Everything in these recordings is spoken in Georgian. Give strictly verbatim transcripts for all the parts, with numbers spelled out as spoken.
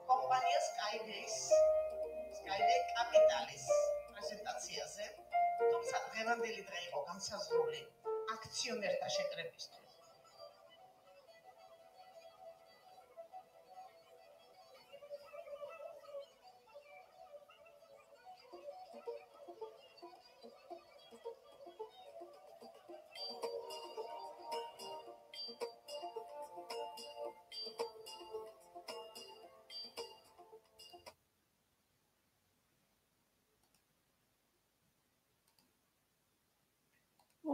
კომპანია Skyday-ის Skyday კაპიტალის პრეზენტაციაზე, თუმცა დღევანდელი დღე იყო განსაზღვრული აქციონერთა შეკრებისთვის.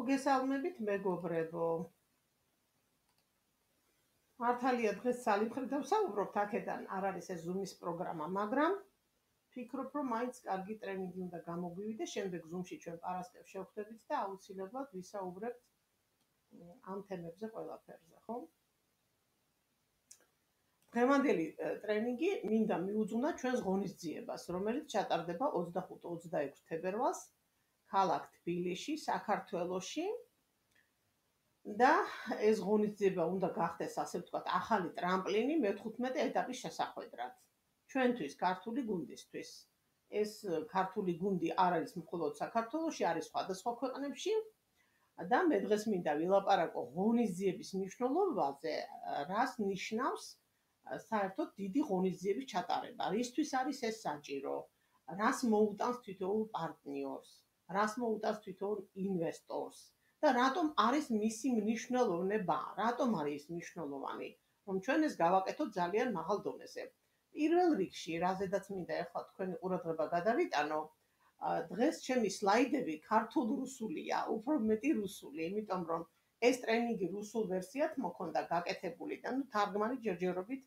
მოგესალმებით მეგობრებო. მართალია დღეს სალიფხრით დავსაუბრობთ, აქედან არ არის ეს Zoom-ის პროგრამა, მაგრამ ვფიქრობ, რომ მაინც კარგი ტრენინგი უნდა გამოგვივიდეს, შემდეგ Zoom-ში ჩვენ პარასკევს შევხვდებით და აუცილებლად ვისაუბრებთ ამ თემებზე ყველაფერზე, ხო? დღევანდელი ტრენინგი მინდა მიუძღვნა ჩვენს ღონისძიებას, რომელიც ჩატარდება ოცდახუთი ოცდაექვსი თებერვალს ქალაქ თბილისში, საქართველოში და ეს ღონისძიება უნდა გახდეს, ასე ვთქვათ, ახალი ტრამპლინი მეთხუთმეტე ეტაპის შესახვედრად. ჩვენთვის, ქართული გუნდისთვის. ეს ქართული გუნდი არ არის მხოლოდ საქართველოში, არის სხვადასხვა ქვეყნებში და მე დღეს მინდა ვილაპარაკო ღონისძიების მნიშვნელობაზე, რას ნიშნავს საერთოდ დიდი ღონისძიების ჩატარება, რისთვის არის ეს საჭირო, რას მოუტანს თითოეულ პარტნიორს, რას მოუტანს თითოეულ ინვესტორს და რატომ არის მისი მნიშვნელოვნება, რატომ არის მნიშვნელოვანი, რომ ჩვენ ეს გავაკეთოთ ძალიან მაღალ დონეზე. პირველ რიგში, რაზედაც მინდა ახლა თქვენი ყურადღება გადავიტანო, დღეს ჩემი სლაიდები ქართულ-რუსულია, უფრო მეტი რუსული, იმიტომ რომ ეს ტრენინგი რუსულ ვერსიად მოქონდა გაკეთებული და ნუ თარგმანი ჯერჯერობით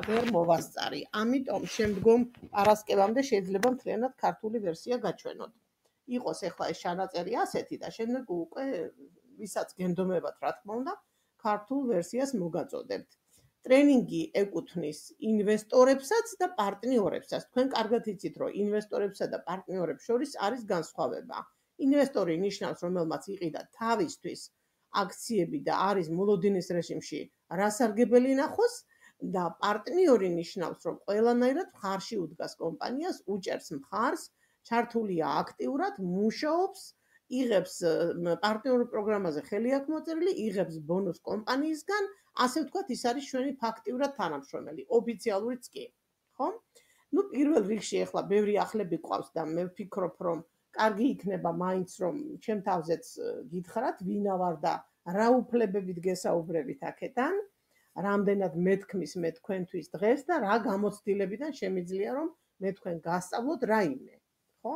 ვერ მოვასწარი. ამიტომ შემდგომ პარასკევამდე შეიძლება მთლიანად ქართული ვერსია გაჩვენოთ. იყოს ახლა ეს ჩანაწერი ასეთი და შემდეგ უკვე ვისაც გენდომებათ, რა თქმა უნდა, ქართულ ვერსიას მოგაწოდებთ. ტრენინგი ეკუთვნის ინვესტორებსაც და პარტნიორებსაც. თქვენ კარგად იცით, რომ ინვესტორებსა და პარტნიორებს შორის არის განსხვავება. ინვესტორი ნიშნავს, რომელმაც იყიდა თავისთვის აქციები და არის მოლოდინის რეჟიმში რასარგებელი ნახოს და პარტნიორი ნიშნავს, რომ ყველანაირად მხარში უდგას კომპანიას, უჭერს მხარს, ჩართულია აქტიურად, მუშაობს, იღებს პარტნიორ პროგრამაზე ხელი აქვს მოწერილი, იღებს ბონუს კომპანიისგან, ასე ვთქვათ, ის არის ჩვენი ფაქტიურად თანამშრომელი, ოფიციალურიც კი, ხო? ნუ პირველ რიგში ახლა ბევრი ახლები გვყავს და მე ვფიქრობ, რომ კარგი იქნება მაინც რომ ჩემ თავზეც გითხრათ, ვინა ვარ და რა უფლებებით გესაუბრებით აქედან, რამდენად მეთქმის მე თქვენთვის დღეს და რა გამოცდილებიდან შემიძლია რომ მე თქვენ გასწავლოთ რაიმე, ხო?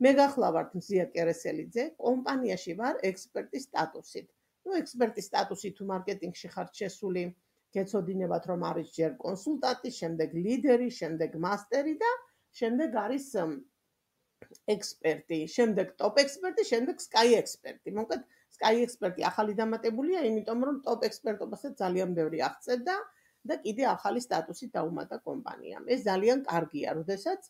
მე გახლავართ მზია კერესელიძე, კომპანიაში ვარ ექსპერტის სტატუსით. ნუ ექსპერტის სტატუსი თუ მარკეტინგში ხართ შესული, გეცოდინებათ რომ არის ჯერ კონსულტანტი, შემდეგ ლიდერი, შემდეგ მასტერი და შემდეგ არის ექსპერტი, შემდეგ ტოპ ექსპერტი, შემდეგ სკაი ექსპერტი. მოკლედ, სკაი ექსპერტი ახალი დამატებულია, იმიტომ რომ ტოპ ექსპერტობასაც ძალიან ბევრი აღწევდა და კიდე ახალი სტატუსი დაუმატა კომპანიამ. ეს ძალიან კარგია, როდესაც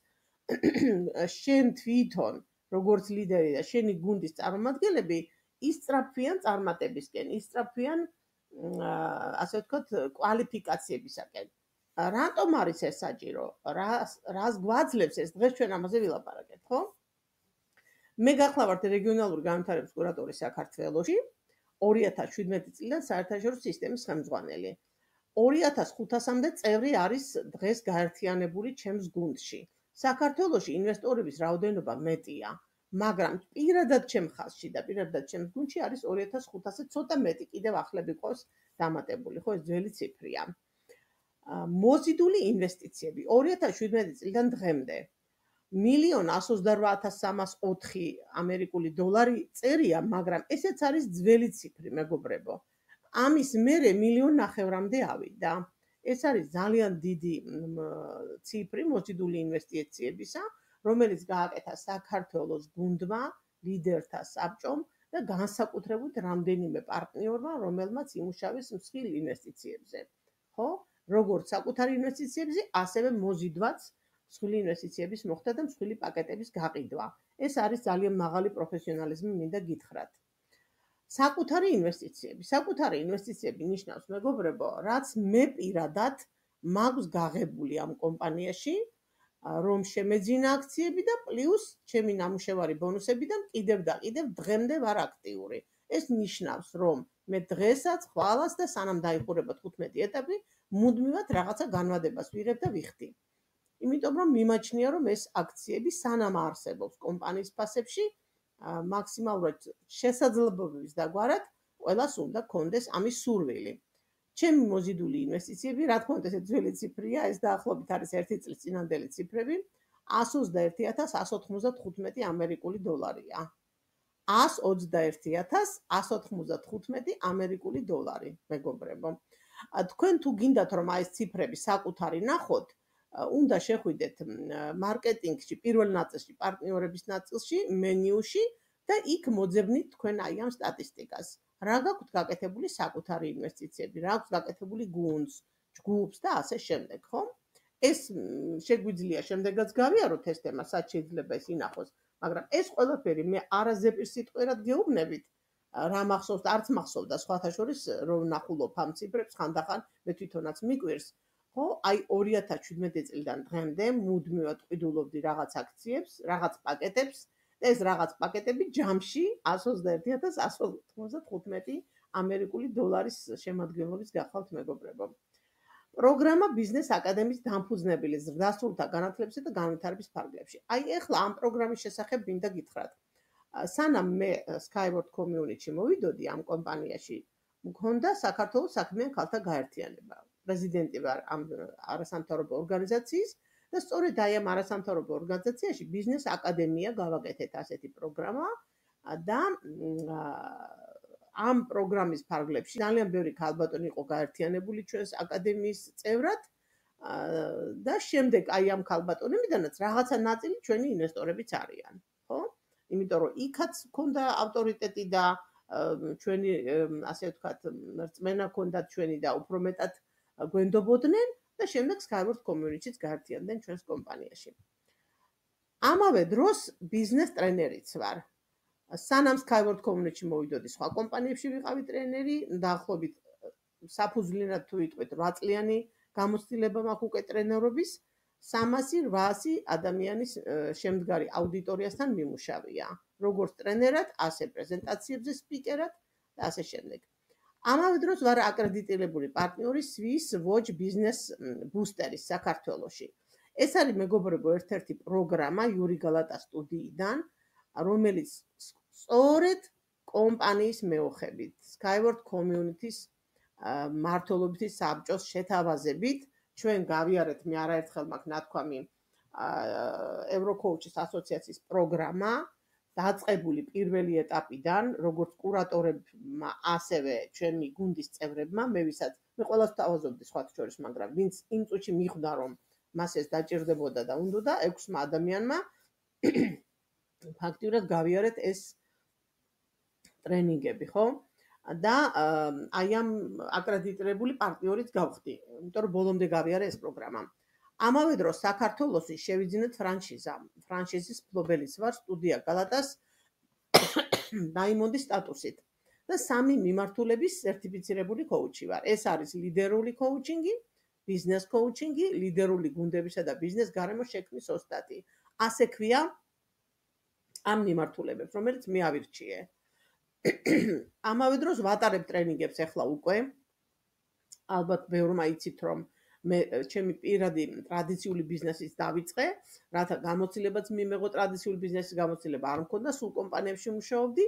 შენ თვითონ, როგორც ლიდერი და შენი გუნდის წარმომადგენლები ისწრაფვიან წარმატებისკენ, ისწრაფვიან, ასე ვთქვათ, კვალიფიკაციებისაკენ. რატომ არის ეს საჭირო? რას გვაძლევს ეს? დღეს ჩვენ ამაზე ვილაპარაკეთ, ხო? მე გახლავართ რეგიონალური განვითარების კურატორი საქართველოში, ორი ათას შვიდმეტი წლიდან საერთაშორისო სისტემის ხელმძღვანელი. ორი ათას ხუთასამდე წევრი არის დღეს გაერთიანებული ჩემს გუნდში. საქართველოში ინვესტორების რაოდენობა მეტია, მაგრამ პირადად ჩემ ხაზში და პირადად ჩემს გუნდში არის ორი ათას ხუთასზე ცოტა მეტი, კიდევ ახლები ყავს დამატებული, ხო, ეს ძველი ციფრია. მოზიდული ინვესტიციები ორი ათას შვიდმეტი წლიდან დღემდე მილიონ ათს ოცდაორ ათას სამას ოთხი ამერიკული დოლარი წერია, მაგრამ ესეც არის ძველი ციფრი, მეგობრებო. ამის მერე მილიონ ნახევრამდე ავიდა. ეს არის ძალიან დიდი ციფრი მოზიდული ინვესტიციებისა, რომელიც გააკეთა საქართველოს გუნდმა, ლიდერთა საბჭომ და განსაკუთრებით რამდენიმე პარტნიორმა, რომელმაც იმუშავეს მსხვილ ინვესტიციებზე. ხო? როგორც საკუთარი ინვესტიციებზე, ასევე მოზიდვაც მსხვილი ინვესტიციების მოხდა და მსხვილი პაკეტების გაყიდვა. ეს არის ძალიან მაღალი პროფესიონალიზმი, მინდა გითხრათ. საკუთარი ინვესტიციები. საკუთარი ინვესტიციები ნიშნავს, მეგობრებო, რაც მე პირადად მაქვს გაღებული ამ კომპანიაში, რომ შემეძინა აქციები და პლუს ჩემი ნამუშევარი ბონუსები და კიდევ და კიდევ დღემდე ვარ აქტიური. ეს ნიშნავს, რომ მე დღესაც, ხვალას და სანამ დაიხურება თხუთმეტი ეტაპი, მუდმივად რაღაცა განვადებას ვიღებ და ვიხდი. იმიტომ რომ მიმაჩნია, რომ ეს აქციები სანამ არსებობს კომპანიის ფასებში, მაქსიმალურად შესაძლებლობების დაგვარად ყველას უნდა კონდეს ამის სურვილი. ჩემი მოზიდული ინვესტიციები, რა თქმა უნდა, ეს ძველი ციფრია, ეს დაახლოებით არის ერთი წლის წინანდელი ციფრები, ათს ოცდაერთი ათას ათს ოცდათხუთმეტი ამერიკული დოლარია. ათს ოცდაერთი ათას ათს ოცდათხუთმეტი ამერიკული დოლარი, მეგობრებო. თქვენ თუ გინდათ რომ აი ეს ციფრები საკუთარი ნახოთ, უნდა შეხვიდეთ მარკეტინგში, პირველ ნაწილში, პარტნიორების ნაწილში, მენიუში და იქ მოძებნით თქვენ აი ამ სტატისტიკას. რა გაქვთ გაკეთებული საკუთარი ინვესტიციები, რა აქვს გაკეთებული გუნდს, ჯგუფს და ასე შემდეგ, ხო? ეს შეგვიძლია შემდეგაც გავიაროთ ეს თემა, სად შეიძლება ეს ინახოს, მაგრამ ეს ყველაფერი მე არაზეპირსიტყვიერად გეუბნებით, რა მახსოვს, არც მახსოვდა სხვათა შორის რომ ნახულობ ამ ციფრებს ხანდახან მე თვითონაც მიკვირს. ხო, აი ორი ათას შვიდმეტი წლიდან დღემდე მუდმივად ყიდულობდი რაღაც აქციებს, რაღაც პაკეტებს და ეს რაღაც პაკეტები ჯამში ათს ოცდაერთი ათას ათს ოცდათხუთმეტი ამერიკული დოლარის შემადგენლობის გახალთ, მეგობრებო. პროგრამა ბიზნეს აკადემიის დამფუძნებელი ზრდასრულთა განათლებისა და განვითარების ფარგლებში. აი ეხლა ამ პროგრამის შესახებ მინდა გითხრათ. სანამ მე Skyward Community მოვიდოდი ამ კომპანიაში, მქონდა საქართველოს საქმიან ქალთა გაერთიანება. პრეზიდენტი ვარ ამ არასამთავრობო ორგანიზაციის და სწორედ აი ამ არასამთავრობო ორგანიზაციაში ბიზნეს აკადემია გავაკეთეთ ასეთი პროგრამა და ამ პროგრამის ფარგლებში ძალიან ბევრი ქალბატონი იყო გაერთიანებული ჩვენს აკადემიის წევრად და შემდეგ აი ამ ქალბატონებიდანაც რაღაცა ნაწილი ჩვენი ინვესტორებიც არიან, ხო? იმიტომ რომ იქაც ქონდა ავტორიტეტი და ჩვენი, ასე ვთქვათ, რწმენა ქონდათ ჩვენი და უფრო მეტად გვენდობოდნენ და შემდეგ Skyward Community-ს გაერთიანდნენ ჩვენს კომპანიაში. ამავე დროს ბიზნეს ტრენერიც ვარ. სანამ Skyward Community-ში მოვიდოდი, სხვა კომპანიებში ვიყავი ტრენერი, დაახლოებით საფუძვლიანად თუ ვიტყვით რვა წლიანი გამოცდილება მაქვს უკვე ტრენერობის, სამასი რვაასი ადამიანის შემდგარი აუდიტორიასთან მიმუშავია. როგორც ტრენერად, ასე პრეზენტაციებზე სპიკერად და ასე შემდეგ. ამავე დროს ვარ აკრედიტირებული პარტნიორი Swiss Watch Business Booster-ის საქართველოში. ეს არის მეგობრებო ერთ-ერთი პროგრამა Yuri Galata სტუდიიდან, რომელიც სწორედ კომპანიის მეოხებით, Skyward Community-ს მმართველობითი საბჭოს შეთავაზებით ჩვენ გავიარეთ მე არაერთხელ მაქვს ნათქვამი Eurocouch-ის ასოციაციის პროგრამა, დაწყებული პირველი ეტაპიდან, როგორც კურატორებმა, ასევე ჩვენი გუნდის წევრებმა, მე ვისაც მე ყველას თავაზობდი სხვათა შორის, მაგრამ ვინც იმ წუთში მიხვდა, რომ მას ეს დაჭირდებოდა და უნდოდა ექვსმა ადამიანმა ფაქტიურად გავიარეთ ეს ტრენინგები, ხო? და აი ამ აკრედიტირებული პარტნიორიც გავხდი, იმიტომ რომ ბოლომდე გავიარე ეს პროგრამა. ამავე დროს საქართველოში შევიძინეთ ფრანშიზა. ფრანშიზის მფლობელიც ვარ, სტუდია გალატას დაიმონდის სტატუსით და სამი მიმართულების სერტიფიცირებული კოუჩი ვარ. ეს არის ლიდერული კოუჩინგი, ბიზნეს კოუჩინგი, ლიდერული გუნდებისა და ბიზნეს გარემოს შექმნის ოსტატი. ასე ქვია ამ მიმართულებებს, რომელიც მე ავირჩიე. ამავე დროს ვატარებ ტრენინგებს ახლა უკვე. ალბათ ბევრმა იცით, რომ მე ჩემი პირადი ტრადიციული ბიზნესის დავიწყე, რათა გამოცდილებაც მიმეღო ტრადიციული ბიზნესის გამოცდილება არ მქონდა, სულ კომპანიებში მუშაობდი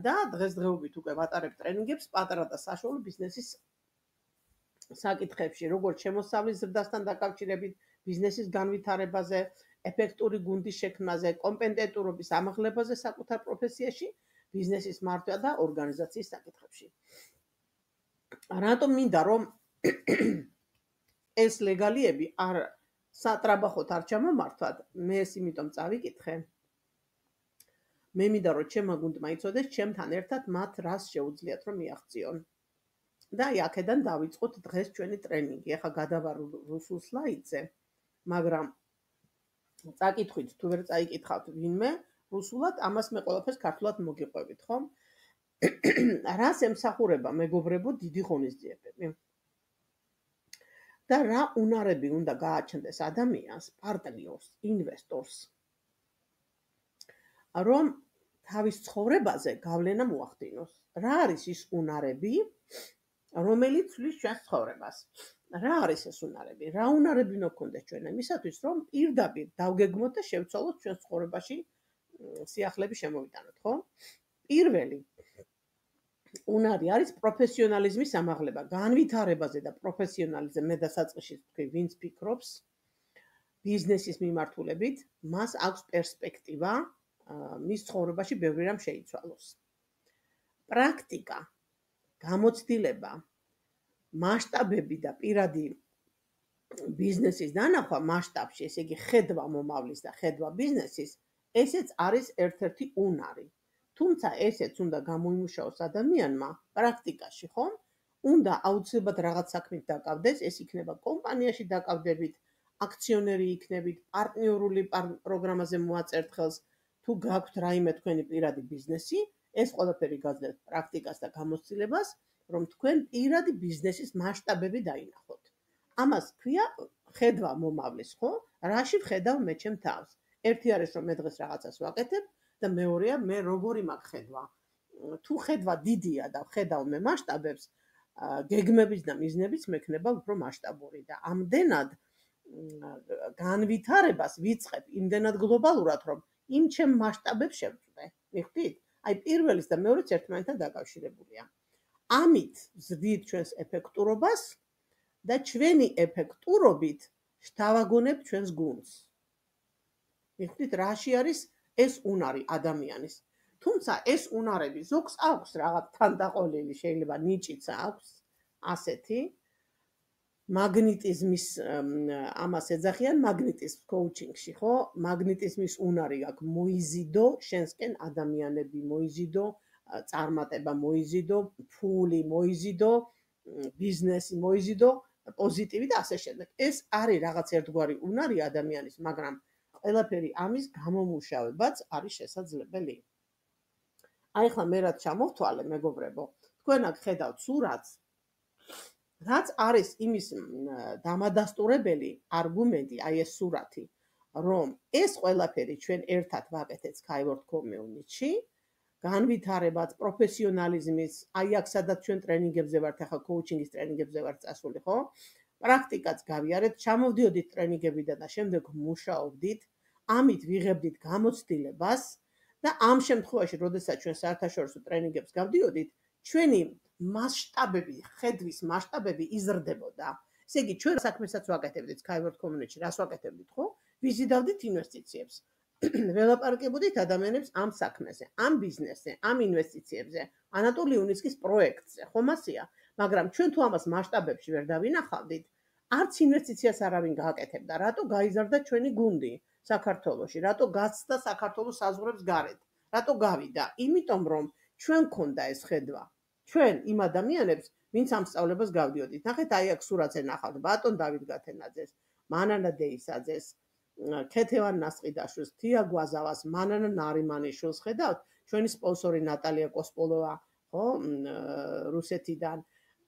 და დღესდღეობით უკვე ვატარებ ტრენინგებს პატარა და საშუალო ბიზნესის საკითხებში, როგორც შემოსავლის ზრდასთან დაკავშირებით, ბიზნესის განვითარებაზე, ეფექტური გუნდის შექმნაზე, კომპეტენტურობის ამაღლებაზე საკუთარ პროფესიაში, ბიზნესის მართვა და ორგანიზაციის საკითხებში. რატომ მინდა რომ ეს ლეგალიები არ სატრაბახოთ არ ჩამომართვათ, მე ეს იმიტომ წავიკითხე. მე მინდა რომ ჩემმა გუნდმა იცოდეს ჩემთან ერთად მათ რას შეუძლიათ რომ მიაღწიონ. და აი აქედან დავიწყოთ დღეს ჩვენი ტრენინგი. ახლა გადავარ რუსულ სლაიდზე, მაგრამ წაკითხვით თუ ვერ წაიკითხავთ ვინმე რუსულად, ამას მე ყველაფერს ქართულად მოგიყვებით, ხო? რას ემსახურება მეგობრებო დიდი ღონისძიებები? და რა უნარები უნდა გააჩნდეს ადამიანს, პარტნიორს, ინვესტორს, რომ თავის ცხოვრებაზე გავლენა მოახდინოს. რა არის ის უნარები, რომელიც ცვლის ჩვენს ცხოვრებას? რა არის ეს უნარები? რა უნარები უნდა გქონდეს ჩვენ იმისათვის, რომ პირდაპირ დავგეგმოთ და შევცვალოთ ჩვენს ცხოვრებაში სიახლეები შემოვიტანოთ, ხო? პირველი უნარი არის პროფესიონალიზმის ამაღლება, განვითარებაზე და პროფესიონალიზმზე მე დასაწყისში ვთქვი, ვინც ფიქრობს ბიზნესის მიმართულებით, მას აქვს პერსპექტივა მის ცხოვრებაში ბევრი რამ შეიცვალოს. პრაქტიკა, გამოცდილება, მასშტაბები და პირადი ბიზნესის დანახვა მასშტაბში, ესე იგი ხედვა მომავლის და ხედვა ბიზნესის, ესეც არის ერთ-ერთი უნარი. თუმცა ესეც უნდა გამოიმუშაოს ადამიანმა პრაქტიკაში, ხო? უნდა აუცილებლად რაღაც საქმით დაკავდეს, ეს იქნება კომპანიაში დაკავდებით, აქციონერი იქნებით, პარტნიორული პროგრამაზე მოაწერთ ხელს, თუ გაქვთ რაიმე თქვენი პირადი ბიზნესი, ეს ყველაფერი გაძლევთ პრაქტიკას და გამოცდილებას, რომ თქვენ პირადი ბიზნესის მასშტაბები დაინახოთ. ამას ქვია ხედვა მომავლის, ხო? რაში ვხედავ მე ჩემ თავს? ერთი არის რომ მე დღეს რაღაცას ვაკეთებ და მეორეა მე როგორი მაქვს ხედვა. თუ ხედვა დიდია და ვხედავ მე მასშტაბებს, გეგმების და მიზნების მექნება უფრო მასშტაბური და ამდენად განვითარებას ვიწყებ იმდენად გლობალურად, რომ იმ ჩემ მასშტაბებს შევწვდე. მიხვდით? აი პირველის და მეორეც ერთმანეთთან დაკავშირებულია. ამით ვზრდით ჩვენს ეფექტურობას და ჩვენი ეფექტურობით შთავაგონებთ ჩვენს გუნდს. მიხვდით, რაში არის ეს უნარი ადამიანის. თუმცა ეს უნარები ზოგს აქვს რაღაც თანდაყოლილი, შეიძლება ნიჭიც აქვს ასეთი მაგნიტიზმის ამას ეძახიან მაგნიტიზმ კოუჩინგში, ხო? მაგნიტიზმის უნარი აქვს მოიზიდო შენსკენ ადამიანები, მოიზიდო წარმატება, მოიზიდო ფული, მოიზიდო ბიზნესი, მოიზიდო პოზიტივი და ასე შემდეგ. ეს არის რაღაც ერთგვარი უნარი ადამიანის, მაგრამ ყველაფერი ამის გამომუშავებაც არის შესაძლებელი. აი ხლა მე რაც ჩამოვთვალე, მეგობრებო, თქვენ აქ ხედავთ სურათს, რაც არის იმის დამადასტურებელი არგუმენტი, აი ეს სურათი, რომ ეს ყველაფერი ჩვენ ერთად ვაკეთეთ Skyward Community-ში, განვითარებაც, პროფესიონალიზმის, აი აქ სადაც ჩვენ ტრენინგებზე ვართ, ახლა კოუჩინგის ტრენინგებზე ვართ წასული, ხო? პრაქტიკაც გავიარეთ, ჩამოვდიოდით ტრენინგებიდან და შემდეგ მუშაობდით, ამით ვიღებდით გამოცდილებას და ამ შემთხვევაში, როდესაც ჩვენ საერთაშორისო ტრენინგებს გავდიოდით, ჩვენი მასშტაბები, ხედვის მასშტაბები იზრდებოდა. ესე იგი, ჩვენ საქმესაც ვაკეთებდით Skyward Community-ში, რას ვაკეთებდით, ხო? ვიზიდავდით ინვესტიციებს. ველაპარაკებოდით ადამიანებს ამ საქმეზე, ამ ბიზნესზე, ამ ინვესტიციებზე, ანატოლი უნიცკის პროექტზე, ხომ ასეა? მაგრამ ჩვენ თუ ამას მასშტაბებში ვერ დავინახავდით, არც ინვესტიციას არავინ გააკეთებდა. რატო გაიზარდა ჩვენი გუნდი საქართველოში? რატო გაცდა საქართველოს საზღვრებს გარეთ? რატო გავიდა? იმიტომ რომ ჩვენ გქონდა ეს ხედვა. ჩვენ იმ ადამიანებს, ვინც ამ სწავლებას გავდიოდით. ნახეთ, აი აქ სურათზე ნახავთ ბატონ დავით გათენაძეს, მანანა დეისაძეს, ქეთევან ნასყიდაშვილს, თია გვაზავას, მანანა ნარიმანიშვილს ხედავთ? ჩვენი სპონსორი ნატალია კოსპოლოვა, ხო, რუსეთიდან.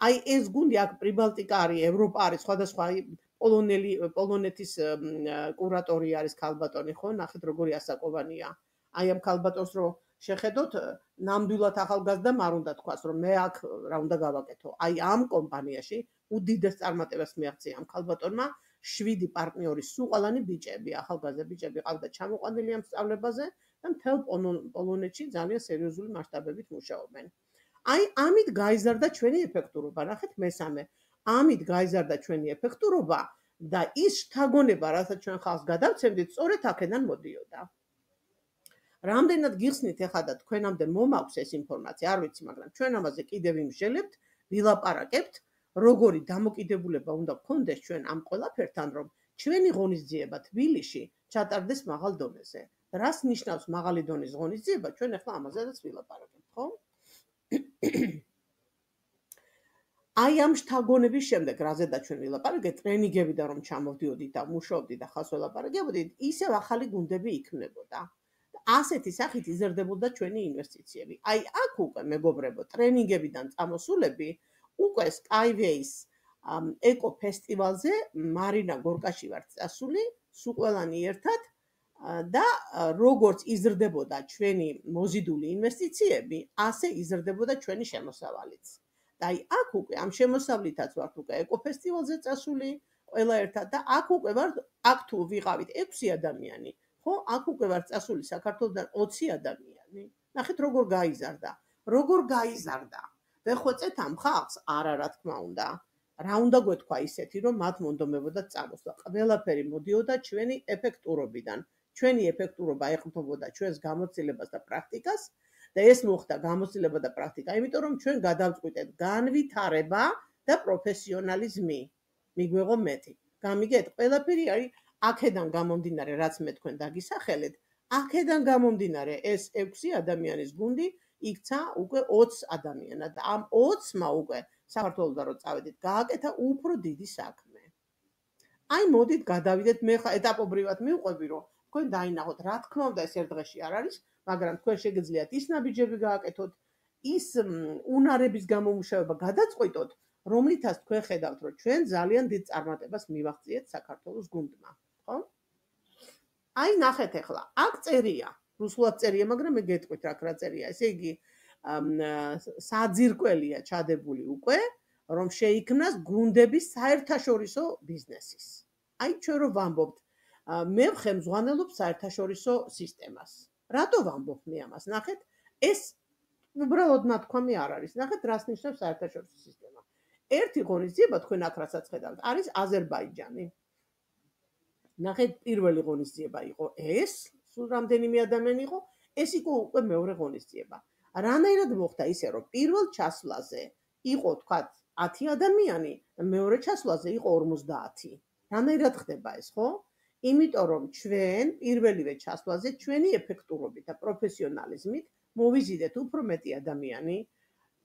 აი ეს გუნდი აქ პრიბალტიკა არის, ევროპა არის, სხვადასხვა პოლონელი, პოლონეთის კურატორი არის ქალბატონი, ხო? ნახეთ როგორი ასაკოვანია. აი ამ ქალბატონს რო შეხედოთ, ნამდვილად ახალგაზრდა არ უნდა თქვას, რომ მე აქ რა უნდა გავაკეთო. აი ამ კომპანიაში უდიდეს წარმატებას მიაღწია ამ ქალბატონმა, შვიდი პარტნიორი, სულ ყველანი ბიჭები, ახალგაზრდა ბიჭები ყავდა ჩამოყვანილი ამ სწავლებაზე და მთელ პოლონეთში ძალიან სერიოზული მასშტაბებით მუშაობენ. აი ამით გაიზარდა ჩვენი ეფექტურობა, ნახეთ მესამე. ამით გაიზარდა ჩვენი ეფექტურობა და ის შთაგონება, რასაც ჩვენ ხალხს გადავცემდით, სწორედ აქედან მოდიოდა. რამდენად გიხსნით ეხლა და თქვენამდე მომაქვს ეს ინფორმაცია, არ ვიცი, მაგრამ ჩვენ ამაზე კიდევ იმსჯელებთ, ვილაპარაკებთ, როგორი დამოკიდებულება უნდა გქონდეს ჩვენ ამ ყველაფერთან, რომ ჩვენი ღონისძიება თბილისში ჩატარდეს მაღალ დონეზე. რას ნიშნავს მაღალი დონის ღონისძიება? ჩვენ ახლა ამაზეც ვილაპარაკებთ, ხო? აი ამ შთაგონების შემდეგ, რაზედაც ჩვენ ვილაპარაკეთ, ტრენინგებიდან რომ ჩამოვდიოდით და მუშაობდით და ხალხს ველაპარაკებოდით, ისევ ახალი გუნდები იქმნებოდა. ასეთი სახით იზრდებოდა ჩვენი ინვესტიციები. აი აქ უკვე მეგობრებო, ტრენინგებიდან წამოსულები უკვე Skyways ეკო ფესტივალზე მარინა გორკაში ვართ წასული, სულ ყველანი ერთად და როგორც იზრდებოდა ჩვენი მოზიდული ინვესტიციები, ასე იზრდებოდა ჩვენი შემოსავალიც. და აი აქ უკვე ამ შემოსავლითაც ვართ უკვე ეკო ფესტივალზე წასული, ყველა ერთად და აქ უკვე ვართ, აქ თუ ვიყავით ექვსი ადამიანი, ხო, აქ უკვე ვართ წასული საქართველოსდან ოცი ადამიანი. ნახეთ როგორ გაიზარდა. როგორ გაიზარდა. ვეხვეწეთ ამ ხალხს? არა, რა თქმა უნდა. რა უნდა გვეთქვა ისეთი, რომ მათ მონდომებოდა წამოსვლა. ყველაფერი მოდიოდა ჩვენი ეფექტურობიდან. ჩვენი ეფექტურობა ეხმთობოდა ჩვენს გამოცდილებას და პრაქტიკას და ეს მოხდა გამოცდილება და პრაქტიკა, იმიტომ რომ ჩვენ გადავწყვიტეთ განვითარება და პროფესიონალიზმი. მიგვეღო მეტი. გამიგეთ, ყველაფერი არის აქედან გამომდინარე, რაც მე თქვენ დაგისახელეთ, აქედან გამომდინარე ეს ექვსი ადამიანის გუნდი იქცა უკვე ოცი ადამიანად და ამ ოცმა უკვე საქართველოსთან რო წავედით, გააკეთა უფრო დიდი საქმე. აი მოდით გადავიდეთ, მე ხა ეტაპობრივად მივყვები, რომ თქვენ დაინახოთ, რა თქმა უნდა ეს ერთ დღეში არ არის, მაგრამ თქვენ შეგიძლიათ ის ნაბიჯები გააკეთოთ, ის უნარების გამომუშავება გადაწყვიტოთ, რომლითაც თქვენ ხედავთ, რომ ჩვენ ძალიან დიდ წარმატებას მივაღწიეთ საქართველოს გუნდმა, ხო? აი ნახეთ ახლა, აქ წერია, რუსულად წერია, მაგრამ მე გეტყვით რა რა წერია. ესე იგი, საძირკველია ჩადებული უკვე, რომ შეიქმნას გუნდების საერთაშორისო ბიზნესის. აი ჩვენ რო ვამბობთ, მე ვხემძღვანელობ საერთაშორისო სისტემას. რატო ვამბობ მე ამას? ნახეთ, ეს უბრალოდ ნათქვამი არ არის. ნახეთ, რას ნიშნავს საერთაშორისო სისტემა. ერთი ღონისძიება თქვენ აქ რასაც ხედავთ, არის აზერბაიჯანი. ნახეთ, პირველი ღონისძიება იყო ეს, სულ რამდენიმე ადამიანი იყო, ეს იყო უკვე მეორე ღონისძიება. რანაირად მოხდა ისე, რომ პირველ ჩასვლაზე იყო თქვა ათი ადამიანი, მეორე ჩასვლაზე იყო ორმოცდაათი. რანაირად ხდება ეს, ხო? იმიტომ რომ ჩვენ პირველივე ჩასვლაზე ჩვენი ეფექტურობით და პროფესიონალიზმით მოვიზიდეთ უფრო მეტი ადამიანი,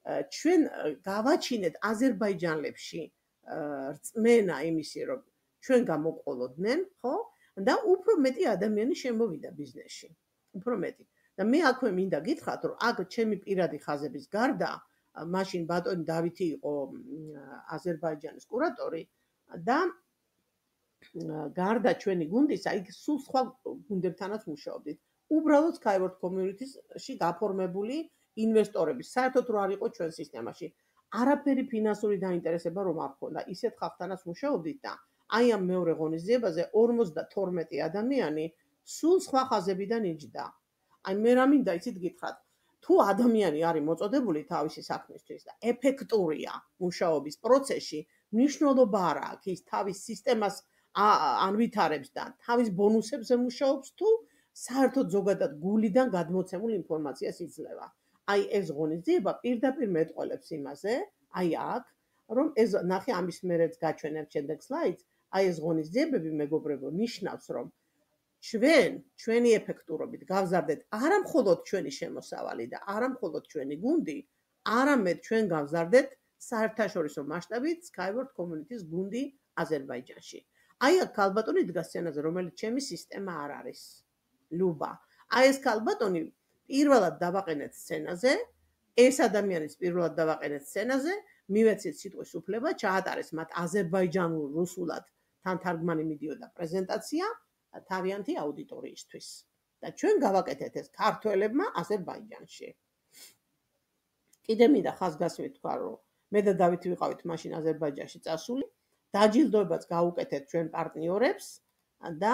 ჩვენ გავაჩინეთ აზერბაიჯანელებში რწმენა იმისი, რომ ჩვენ გამოყოლოდნენ, ხო? და უფრო მეტი ადამიანი შემოვიდა ბიზნესში. უფრო მეტი. და მე აქვე მინდა გითხრათ, რომ აქ ჩემი პირადი ხაზების გარდა, მაშინ ბატონი დავითი იყო აზერბაიჯანის კურატორი და გარდა ჩვენი გუნდისა, იქ სულ სხვა გუნდებთანაც მუშაობდით. უბრალოდ Skyward Community-ში გაფორმებული ინვესტორების, საერთოდ რო არ იყო ჩვენ სისტემაში. არაფერი ფინანსური დაინტერესება რომ არ ქონდა. ისეთ ხალხთანაც მუშაობდით და აი ამ მეორე ღონისძიებაზე ორმოცდათორმეტი ადამიანი სულ სხვა ხაზებიდან იჯდა. აი მე რა მინდა იცით გითხრათ, თუ ადამიანი არის მოწოდებული თავისი საქმისთვის და ეფექტურია მუშაობის პროცესში, მნიშვნელობა არ აქვს ის თავის სისტემას ანვითარებს და თავის ბონუსებზე მუშაობს თუ საერთოდ ზოგადად გულიდან გადმოცემულ ინფორმაციას იძლევა. აი ეს ღონისძიება პირდაპირ მეტყველებს იმაზე, აი აქ, რომ ეს ნახე ამის მერეც გაჩვენებ შემდეგ სლაიდს, აი ეს ღონისძიებები მეგობრებო ნიშნავს, რომ ჩვენ, ჩვენი ეფექტურობით გავზარდეთ არა მხოლოდ ჩვენი შემოსავალი და არა მხოლოდ ჩვენი გუნდი, არამედ ჩვენ გავზარდეთ საერთაშორისო მასშტაბით Skyward Community-ს გუნდი აზერბაიჯანში. აი აქ ქალბატონი დგას სცენაზე, რომელიც ჩემი სისტემა არ არის. ლუბა. აი ეს ქალბატონი პირველად დავაყენეთ სცენაზე, ეს ადამიანიც პირველად დავაყენეთ სცენაზე, მივეცეთ სიტყვის უფლება, ჩაატარეს მათ აზერბაიჯანულ რუსულად თან თარგმანი მიდიოდა პრეზენტაცია თავიანთი აუდიტორიისთვის. და ჩვენ გავაკეთეთ ეს ქართველებმა აზერბაიჯანში. კიდე მინდა ხაზგასმით თქვა, რომ მე და დავითი ვიყავით მაშინ აზერბაიჯანში წასული, დაჯილდოებაც გავუკეთეთ ჩვენ პარტნიორებს და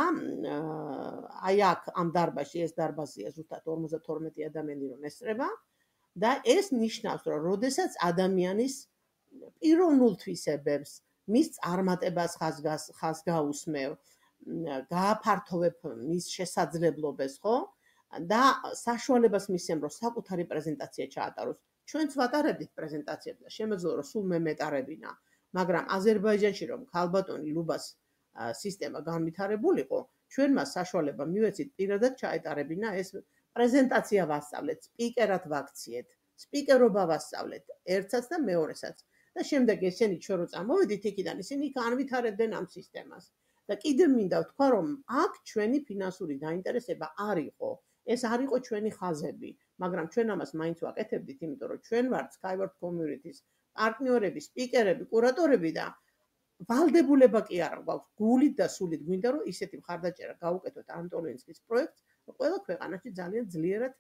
აი აქ ამ დარბაზში ეს დარბაზია ზუსტად ორმოცდათორმეტი ადამიანი რომ ესწრება და ეს ნიშნავს, რომ როდესაც ადამიანის პიროვნულ თვისებებს, მის წარმატებას ხაზგაუსმევ, გააფართოვებ მის შესაძლებლობებს, ხო? და საშუალებას მისცემ, რომ საკუთარი პრეზენტაცია ჩაატაროს. ჩვენც ვატარებდით პრეზენტაციებს და შემეძლო რომ სულ მე მეტარებინა, მაგრამ აზერბაიჯანში რომ ქალბატონი ლუბას სისტემა განვითარებულიყო, ჩვენ მას საშუალება მივეცით პირადად ჩაეტარებინა ეს პრეზენტაცია ვასწავლეთ, სპიკერად ვაქციეთ, სპიკერობა ვასწავლეთ, ერთსაც და მეორესაც. და შემდეგ ესენი ჩვენ რო წამოვედით იქიდან, ისინი განვითარებდნენ ამ სისტემას. და კიდევ მინდა ვთქვა, რომ აქ ჩვენი ფინანსური დაინტერესება არ იყო. ეს არ იყო ჩვენი ხაზები, მაგრამ ჩვენ ამას მაინც ვაკეთებდით, იმიტომ რომ ჩვენ ვართ Skyward Community-ს პარტნიორები, სპიკერები, კურატორები და ვალდებულება კი არა გვაქვს, გულით და სულით გვინდა რომ ისეთი მხარდაჭერა გავუკეთოთ ანტოლინსკის პროექტს, რომ ყველა ქვეყანაში ძალიან ძლიერად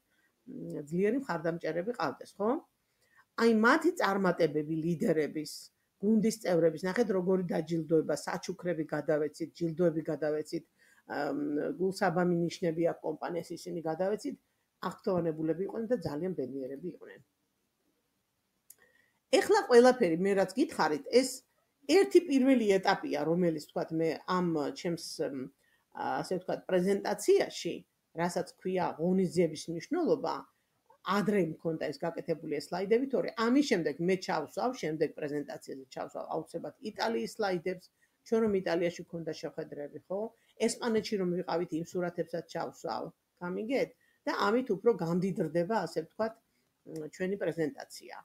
ძლიერი მხარდამჭერები ყავდეს, ხო? აი მათი წარმატებები ლიდერების, გუნდის წევრების, ნახეთ როგორი დაჯილდოება, საჩუქრები გადავეცით, ჯილდოები გადავეცით, გულსაბამი ნიშნები აქვს კომპანიას ისინი გადავეცით, აღფრთოვანებულები იყვნენ და ძალიან ბედნიერები იყვნენ. ეხლა ყველაფერი მე რაც გითხარით, ეს ერთი პირველი ეტაპია, რომელიც თქვათ მე ამ ჩემს ასე ვთქვათ პრეზენტაციაში, რასაც ქვია ღონისძიების მნიშვნელობა, ადრე მქონდა ეს გაკეთებული სლაიდები, თორე ამის შემდეგ მე ჩავსვავ, შემდეგ პრეზენტაციაზე ჩავსვავ აუცილებლად იტალიის სლაიდებს, ჩვენ რომ იტალიაში მქონდა შეხვედრები, ხო? ესპანეთში რომ ვიყავით იმ სურათებსაც ჩავსვავ, გამიგეთ? და ამით უფრო გამდიდრდება, ასე ვთქვათ, ჩვენი პრეზენტაცია.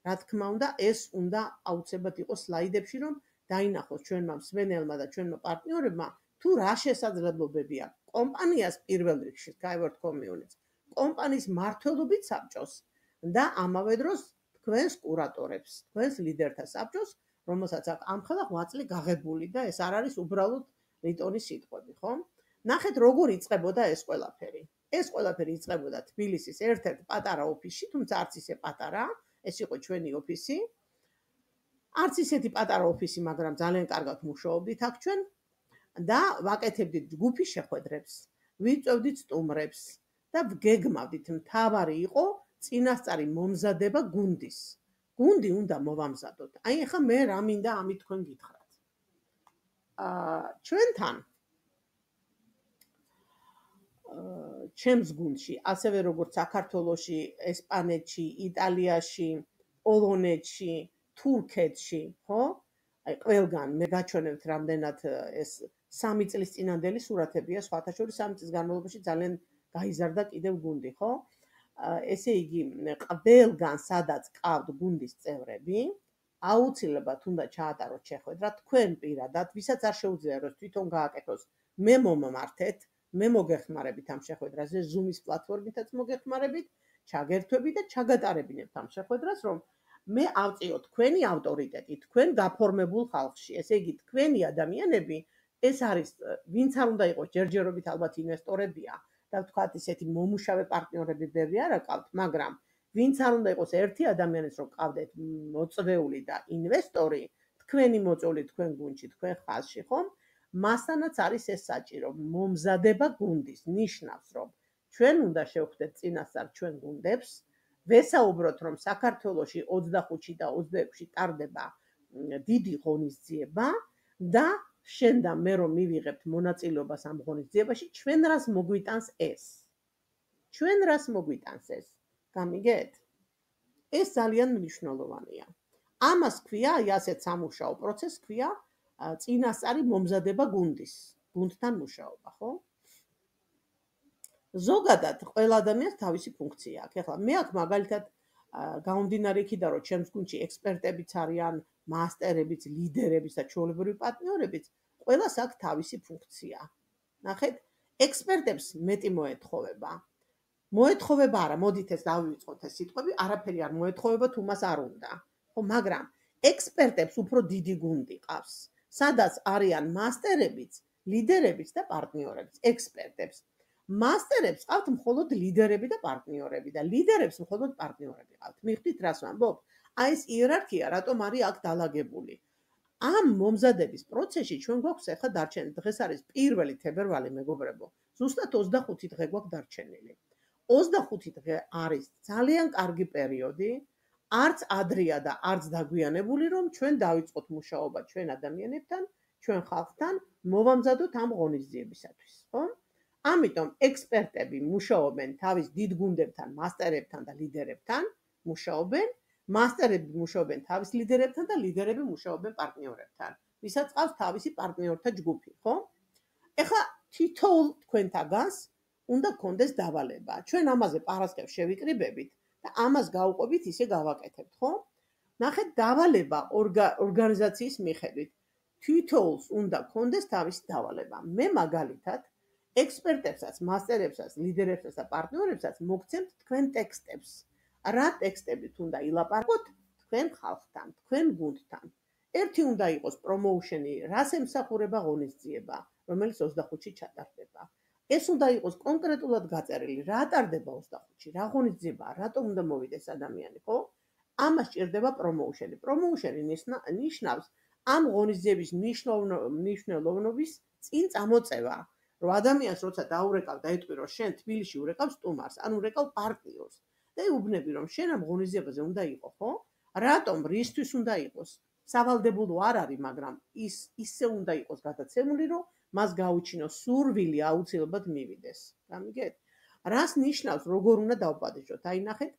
რა თქმა უნდა, ეს უნდა აუცილებლად იყოს სლაიდებში, რომ დაინახოს ჩვენმა მსმენელმა და ჩვენმა პარტნიორებმა, თუ რა შესაძლებლობები აქვს კომპანიას პირველ რიგში Skyward Community-ს, კომპანიის მმართველობით საბჭოს და ამავე დროს თქვენს კურატორებს, თქვენს ლიდერთა საბჭოს, რომელსაც აქვს ამხელა ღვაწლი გაღებული და ეს არ არის უბრალოდ რიტონის სიტყვები, ხო? ნახეთ როგორ იწყებოდა ეს ყველაფერი. ეს ყველაფერი იწყებოდა თბილისის ერთ-ერთ პატარა ოფისში, თუმცა არც ისე პატარა, ეს იყო ჩვენი ოფისი. არც ისეთი პატარა ოფისი, მაგრამ ძალიან კარგად მუშაობდით აქ ჩვენ და ვაკეთებდით ჯგუფის შეხვედრებს, ვიწვევდით სტუმრებს და ვგეგმავდით, მთავარი იყო წინასწარი მომზადება გუნდის. გუნდი უნდა მოვამზადოთ. აი ახლა მე რა მინდა ამით თქვენ გითხრათ. აა ჩვენთან ჩემს გუნდში, ასევე როგორც საქართველოში, ესპანეთში, იტალიაში, პოლონეთში, თურქეთში, ხო? აი ყველგან მე გაჩვენებთ რამდენად ეს სამი წლის წინანდელი სურათებია, სხვათა შორის სამი წლის განმავლობაში ძალიან გაიზარდა კიდევ გუნდი, ხო? ესე იგი, ყველგან სადაც ყავთ გუნდის წევრები, აუცილებლად უნდა ჩაატაროთ შეხვედრა თქვენ პირადად, ვისაც არ შეუძლია რომ თვითონ გააკეთოს, მე მომმართეთ, მე მოგეხმარებით ამ შეხვედრაზე, Zoom-ის პლატფორმითაც მოგეხმარებით, ჩაგერთვებით და ჩაგატარებინებთ ამ შეხვედრას, რომ მე ავწიოთ თქვენი ავტორიტეტი, თქვენ გაფორმებულ ხალხში. ესე იგი, თქვენი ადამიანები, ეს არის, ვინც არ უნდა იყოს ჯერჯერობით ალბათ ინვესტორებია და ვთქვათ ისეთი მომუშავე პარტნიორები ბევრი არ აკავთ, მაგრამ ვინც არ უნდა იყოს ერთი ადამიანის რომ ყავდეთ მოწვეული და ინვესტორი, თქვენი მოწვეული თქვენ გუნდში, თქვენ ხაზში, ხომ? მასთანაც არის ეს საჭირო, მომზადება გუნდის, ნიშნავს, რომ ჩვენ უნდა შევხვდეთ წინასწარ ჩვენ გუნდებს, ვესაუბროთ, რომ საქართველოში ოცდახუთში და ოცდაექვსში ტარდება დიდი ღონისძიება და შენ და მე რომ მივიღებთ მონაწილეობას ამ ღონისძიებაში, ჩვენ რას მოგვიტანს ეს? ჩვენ რას მოგვიტანს ეს? გამიგეთ? ეს ძალიან მნიშვნელოვანია. ამას ქვია, აი ასეთ სამუშაო პროცესს ქვია წინასწარი მომზადება გუნდის, გუნდთან მუშაობა, ხო? ზოგადად ყველა ადამიანს თავისი ფუნქცია აქვს. ეხლა მე აქ მაგალითად გამომდინარე იქიდან, რომ ჩემს გუნდში ექსპერტებიც არიან, მასტერებიც, ლიდერებიც და ჩვეულებრივი პარტნიორებიც, ყველას აქვს თავისი ფუნქცია. ნახეთ, ექსპერტებს მეტი მოეთხოვება. მოეთხოვება არა, მოდით ეს დავივიწყოთ ეს სიტყვები, არაფერი არ მოეთხოვება, თუ მას არ უნდა. ხო, მაგრამ ექსპერტებს უფრო დიდი გუნდი ყავს, სადაც არიან მასტერებიც, ლიდერებიც და პარტნიორებიც, ექსპერტებს. მასტერებს ყავთ მხოლოდ ლიდერები და პარტნიორები და ლიდერებს მხოლოდ პარტნიორები ყავთ. მიხვდით რას ვამბობ? აი ეს იერარქია რატომ არის აქ დალაგებული? ამ მომზადების პროცესში ჩვენ გვაქვს ახლა დარჩენილი. დღეს არის პირველი თებერვალი, მეგობრებო. ზუსტად ოცდახუთი დღე გვაქვს დარჩენილი. ოცდახუთი დღე არის ძალიან კარგი პერიოდი, არც ადრეა და არც დაგვიანებული, რომ ჩვენ დავიწყოთ მუშაობა ჩვენ ადამიანებთან, ჩვენ ხალხთან, მოვამზადოთ ამ ღონისძიებისათვის, ხო? ამიტომ ექსპერტები მუშაობენ თავის დიდ გუნდებთან, მასტერებთან და ლიდერებთან, მუშაობენ, მასტერები მუშაობენ თავის ლიდერებთან და ლიდერები მუშაობენ პარტნიორებთან, ვისაც ყავს თავისი პარტნიორთა ჯგუფი, ხო? ეხლა თითოეულ თქვენთაგანს უნდა გქონდეს დავალება. ჩვენ ამაზე პარასკევს შევიკრიბებით და ამას გავუყვებით, ისე გავაკეთებთ, ხო? ნახეთ, დავალება ორგანიზაციის მიხედვით. თითოეულს უნდა გქონდეს თავისი დავალება. მე მაგალითად ექსპერტებსაც, მასტერებსაც, ლიდერებსაც და პარტნიორებსაც მოგცემთ თქვენ ტექსტებს. რა ტექსტებით უნდა ილაპარაკოთ თქვენ ხალხთან, თქვენ გუნდთან. ერთი უნდა იყოს პრომოუშენი, რას ემსახურება ღონისძიება, რომელიც ოცდახუთში ჩატარდება. ეს უნდა იყოს კონკრეტულად გაწერილი, რა ტარდება ოცდახუთში, რა ღონისძიებაა, რატომ უნდა მოვიდეს ადამიანი, ხო? ამას ჭირდება პრომოუშენი. პრომოუშენი ნიშნავს ამ ღონისძიების მნიშვნელოვნობის წინ წამოწევა. რომ ადამიანს როცა დაურეკავ და ეტყვი, რომ შენ თბილისში ურეკავ სტუმარს, ან ურეკავ პარტნიორს და უბნები, რომ შენ ამ ღონისძიებაზე უნდა იყო, ხო? რატომ, რისთვის უნდა იყოს? სავალდებულო არ არის, მაგრამ ის ისე უნდა იყოს გადაცემული, რომ მას გაუჩინოს სურვილი აუცილებლად მივიდეს. გამიგეთ? რას ნიშნავს, როგორ უნდა დავპატიჟოთ? აი ნახეთ,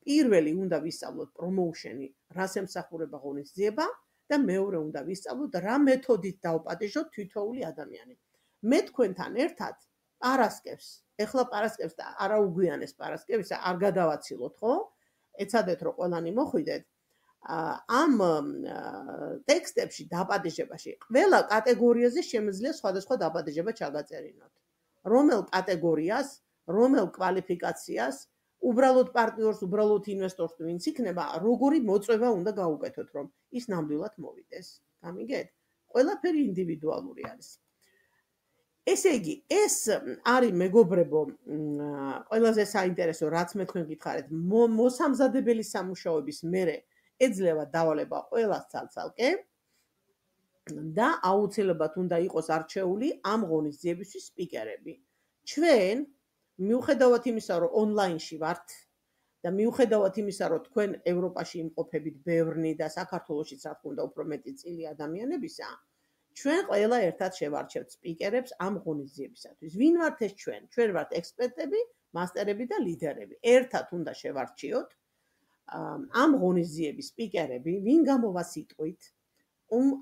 პირველი უნდა ვისწავლოთ პრომოუშენი, რას ემსახურება ღონისძიება და მეორე უნდა ვისწავლოთ, რა მეთოდით დავპატიჟოთ თითოეული ადამიანი. მე თქვენთან ერთად პარასკევს, ეხლა პარასკევს და არა უგვიანეს პარასკევისა არ გადავაცილოთ, ხო? ეცადეთ, რომ ყველანი მოხვიდეთ. ამ ტექსტებში დაპატიჟებაში ყველა კატეგორიაზე შემიძლია სხვადასხვა დაპატიჟება ჩაგაწერინოთ. რომელ კატეგორიას, რომელ კვალიფიკაციას, უბრალოდ პარტნიორს, უბრალოდ ინვესტორს ვინც იქნება, როგორი მოწვევა უნდა გაუკეთოთ, რომ ის ნამდვილად მოვიდეს. გამიგეთ? ყველაფერი ინდივიდუალური არის. ესე იგი, ეს არის მეგობრებო, ყველაზე საინტერესო, რაც მე თქვენ გითხარით, მოსამზადებელი სამუშაოების მერე ეძლევა დავალება ყველას ცალ-ცალკე და აუცილებლად უნდა იყოს არჩეული ამ ღონისძიებისთვის სპიკერები. ჩვენ მიუხედავად იმისა, რომ ონლაინში ვართ და მიუხედავად იმისა, რომ თქვენ ევროპაში იმყოფებით ბევრნი და საქართველოშიც რა თქმა უნდა უფრო მეტი წილი ადამიანებისა, ჩვენ ყველა ერთად შევარჩევთ სპიკერებს ამ ღონისძიებისათვის. ვინ ვართ ეს ჩვენ? ჩვენ ვართ ექსპერტები, მასტერები და ლიდერები. ერთად უნდა შევარჩიოთ ამ ღონისძიების სპიკერები, ვინ გამოვა სიტყვით,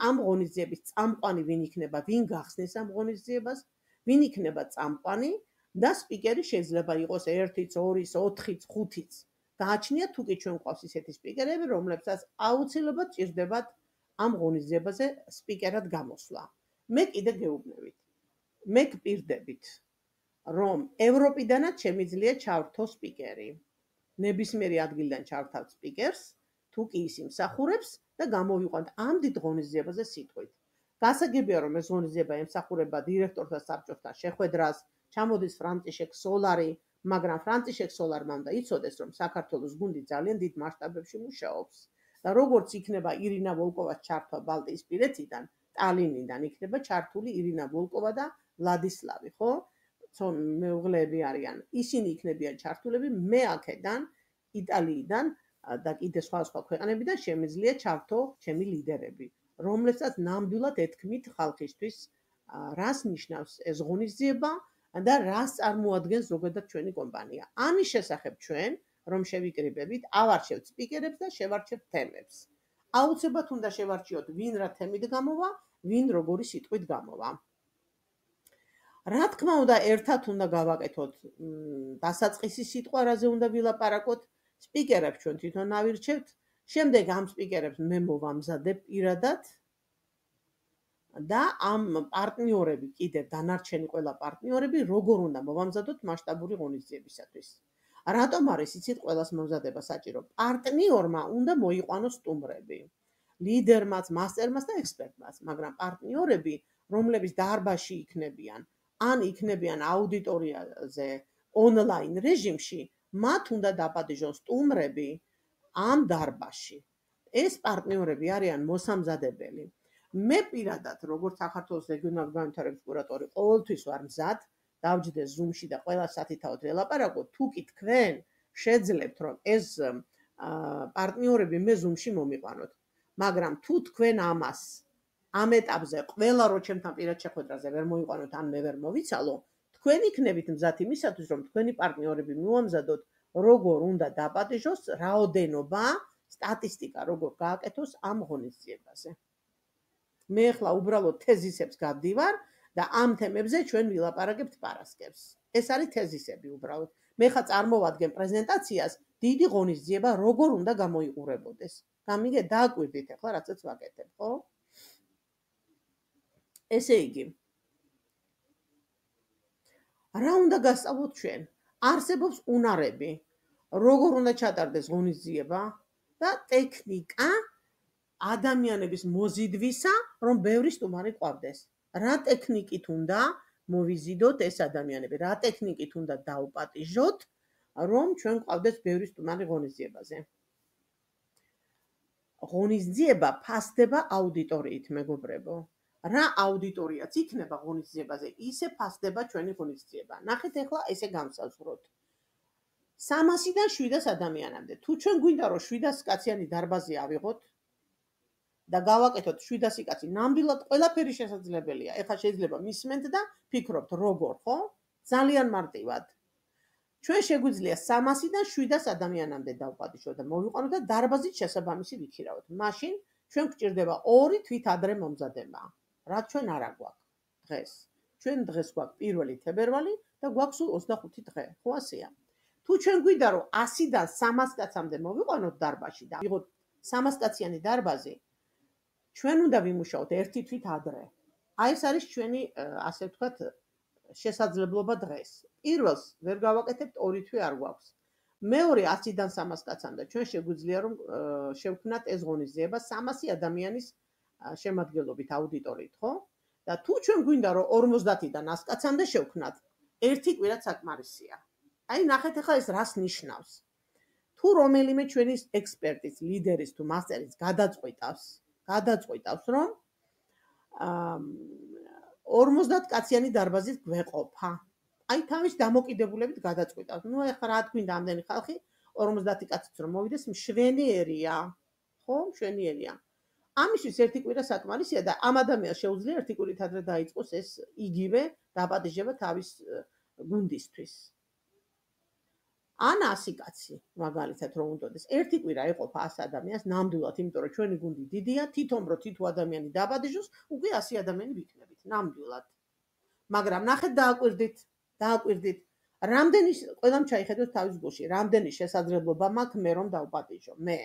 ამ ღონისძიების წამყვანი ვინ იქნება, ვინ გახსნის ამ ღონისძიებას, ვინ იქნება წამყვანი და სპიკერი შეიძლება იყოს ერთიც, ორიც, ოთხიც, ხუთიც. გააჩნია თუ კი ჩვენ გვყავს ისეთი სპიკერები, რომლებსაც აუცილებლად ჭირდებათ ამ ღონისძიებაზე სპიკერად გამოსვლა. მე კიდე გეუბნებით. მე გპირდებით, რომ ევროპიდანაც შემიძლია ჩავრთო სპიკერი. ნებისმიერი ადგილიდან ჩავრთავთ სპიკერს, თუ კი ის იმსახურებს და გამოვიყვანთ ამ დიდ ღონისძიებაზე სიტყვით. გასაგებია, რომ ეს ღონისძიება ემსახურება დირექტორთა საბჭოსთან შეხვედრას, ჩამოდის ფრანტიშეკ სოლარი, მაგრამ ფრანტიშეკ სოლარმა უნდა იცოდეს, რომ საქართველოს გუნდი ძალიან დიდ მასშტაბებში მუშაობს და როგორც იქნება ირინა ვოლკოვას ჩართვა ბალტიისპირეთიდან, ტალინიდან იქნება ჩართული ირინა ვოლკოვა და ვლადისლავი, ხო? მეუღლეები არიან, ისინი იქნებიან ჩართულები, მე აქედან, იტალიიდან და კიდე სხვა სხვა ქვეყნებიდან შემიძლია ჩართო ჩემი ლიდერები, რომლებსაც ნამდვილად ეთქმით ხალხისთვის, რას ნიშნავს ეს ღონისძიება და რას წარმოადგენს ზოგადად ჩვენი კომპანია. ამის შესახებ ჩვენ, რომ შევიკრიბებით, ავარჩევთ სპიკერებს და შევარჩევთ თემებს. აუცილებლად უნდა შევარჩიოთ, ვინ რა თემით გამოვა, ვინ როგორი სიტყვით გამოვა. რა თქმა უნდა, ერთად უნდა გავაკეთოთ დასაწყისი სიტყვა, რაზე უნდა ვილაპარაკოთ, სპიკერებს ჩვენ თვითონ ავირჩევთ, შემდეგ ამ სპიკერებს მე მოვამზადებ პირადად და ამ პარტნიორები, კიდევ დანარჩენი ყველა პარტნიორები, როგორ უნდა მოვამზადოთ მასშტაბური ღონისძიებისათვის. რატომ არის იცით ყველას მომზადება საჭირო? პარტნიორმა უნდა მოიყვანოს სტუმრები, ლიდერმაც, მასტერმაც და ექსპერტმაც, მაგრამ პარტნიორები, რომლებიც დარბაზში იქნებიან, ან იქნებიან აუდიტორიაზე ონლაინ რეჟიმში, მათ უნდა დაპატიჟონ სტუმრები ამ დარბაზში. ეს პარტნიორები არიან მოსამზადებელი. მე პირადად, როგორც საქართველოს რეგიონალური განვითარების კურატორი, ყოველთვის ვარ მზად დავჯდეთ ზუმში და ყველა სათითაოდ ველაპარაკოთ, თუ კი თქვენ შეძლებთ, რომ ეს პარტნიორები მე ზუმში მომიყვანოთ. მაგრამ თუ თქვენ ამას ამ ეტაპზე ყველა რო ჩემთან პირად შეხვედრაზე ვერ მოიყვანოთ, ან მე ვერ მოვიცალო, თქვენ იქნებით მზად იმისათვის, რომ თქვენი პარტნიორები მივამზადოთ, როგორ უნდა დაპატიჟოს, რაოდენობა, სტატისტიკა როგორ გააკეთოს ამ ღონისძიებაზე. მე ახლა უბრალოდ თეზისებს გავდივარ და ამ თემებზე ჩვენ ვილაპარაკებთ პარასკევს. ეს არის თეზისები უბრალოდ. მე ხა წარმოვადგენ პრეზენტაციას, დიდი ღონისძიება როგორ უნდა გამოიყურებოდეს. გამიგე, დააკვირდით ახლა რაცაც ვაკეთებ, ხო? ესე იგი, რა უნდა გასწავლოთ ჩვენ? არსებობს უნარები, როგორ უნდა ჩატარდეს ღონისძიება და ტექნიკა ადამიანების მოზიდვისა, რომ ბევრი სტუმარი ყავდეს. რა ტექნიკით უნდა მოვიზიდოთ ეს ადამიანები, რა ტექნიკით უნდა დაუპატიჟოთ, რომ ჩვენ ყავდეს ბევრი სტუმარი ღონისძიებაზე. ღონისძიება ფასდება აუდიტორიით, მეგობრებო. რა აუდიტორიაც იქნება ღონისძიებაზე, ისე ფასდება ჩვენი ღონისძიება. ნახეთ ახლა ესე განსაზღვროთ. სამასიდან შვიდას ადამიანამდე. თუ ჩვენ გვინდა რომ შვიდას კაციანი დარბაზი ავიღოთ და გავაკეთოთ შვიდასი კაცი, ნამდვილად ყველაფერი შესაძლებელია. ეხლა შეიძლება მისმენთ და ფიქრობთ როგორ, ხო? ძალიან მარტივად. ჩვენ შეგვიძლია სამასიდან შვიდას ადამიანამდე დავყავდიშოთ და მოვიყვანოთ და დარბაზით შესაბამისი ვიქირავოთ. მაშინ ჩვენ გვჭირდება ორი თვით ადრე მომზადება. რაც ჩვენ არ აგვაქვს დღეს. ჩვენ დღეს გვაქვს პირველი თებერვალი და გვაქვს სულ ოცდახუთი დღე. ხო ასეა? თუ ჩვენ გვინდა რომ ასიდან სამას კაცამდე მოვიყვანოთ დარბაზში და ვიღოთ სამას კაციანი დარბაზი, ჩვენ უნდა ვიმუშაოთ ერთი თვით ადრე. აი ეს არის ჩვენი, ასე ვთქვათ, შესაძლებლობა დღეს. პირველს ვერ გავაკეთებთ, ორი თვე არ გვაქვს. მეორე ასიდან სამას კაცამდე ჩვენ შეგვიძლია რომ შევქმნათ ეს ღონისძიება სამასი ადამიანის შემადგენლობით აუდიტორიით, ხო? და თუ ჩვენ გვინდა რომ ორმოცდათიდან ას კაცამდე შევქმნათ, ერთი კვირა საკმარისია. აი ნახეთ ახლა ეს რას ნიშნავს. თუ რომელიმე ჩვენი ექსპერტის, ლიდერის თუ მასტერის გადაწყვიტავს, გადაწყვიტავს რომ ორმოცდათ კაციანი დარბაზით გვეყოფა. აი თავის დამოკიდებულებით გადაწყვიტავს. ნუ ახლა რა თქვინდა ამდენი ხალხი, ორმოცდათი კაციც რომ მოვიდეს, მშვენიერია. ხო, მშვენიერია. ამისთვის ერთი კვირა საკმარისია და ამ ადამიანს შეუძლია ერთი კვირით ადრე დაიწყოს ეს იგივე დაპატიჟება თავის გუნდისთვის. ან ასი კაცი, მაგალითად რომ უნდოდეს, ერთი კვირა ეყოფა ას ადამიანს ნამდვილად, იმიტომ რომ ჩვენი გუნდი დიდია, თვითონ რო თითო ადამიანი დაპატიჟოს, უკვე ასი ადამიანი ვიქნებით, ნამდვილად. მაგრამ ნახეთ დააკვირდით, დააკვირდით, რამდენი ყველამ ჩაიხედოს თავის გულში, რამდენი შესაძლებლობა მაქვს მე რომ დავპატიჟო, მე.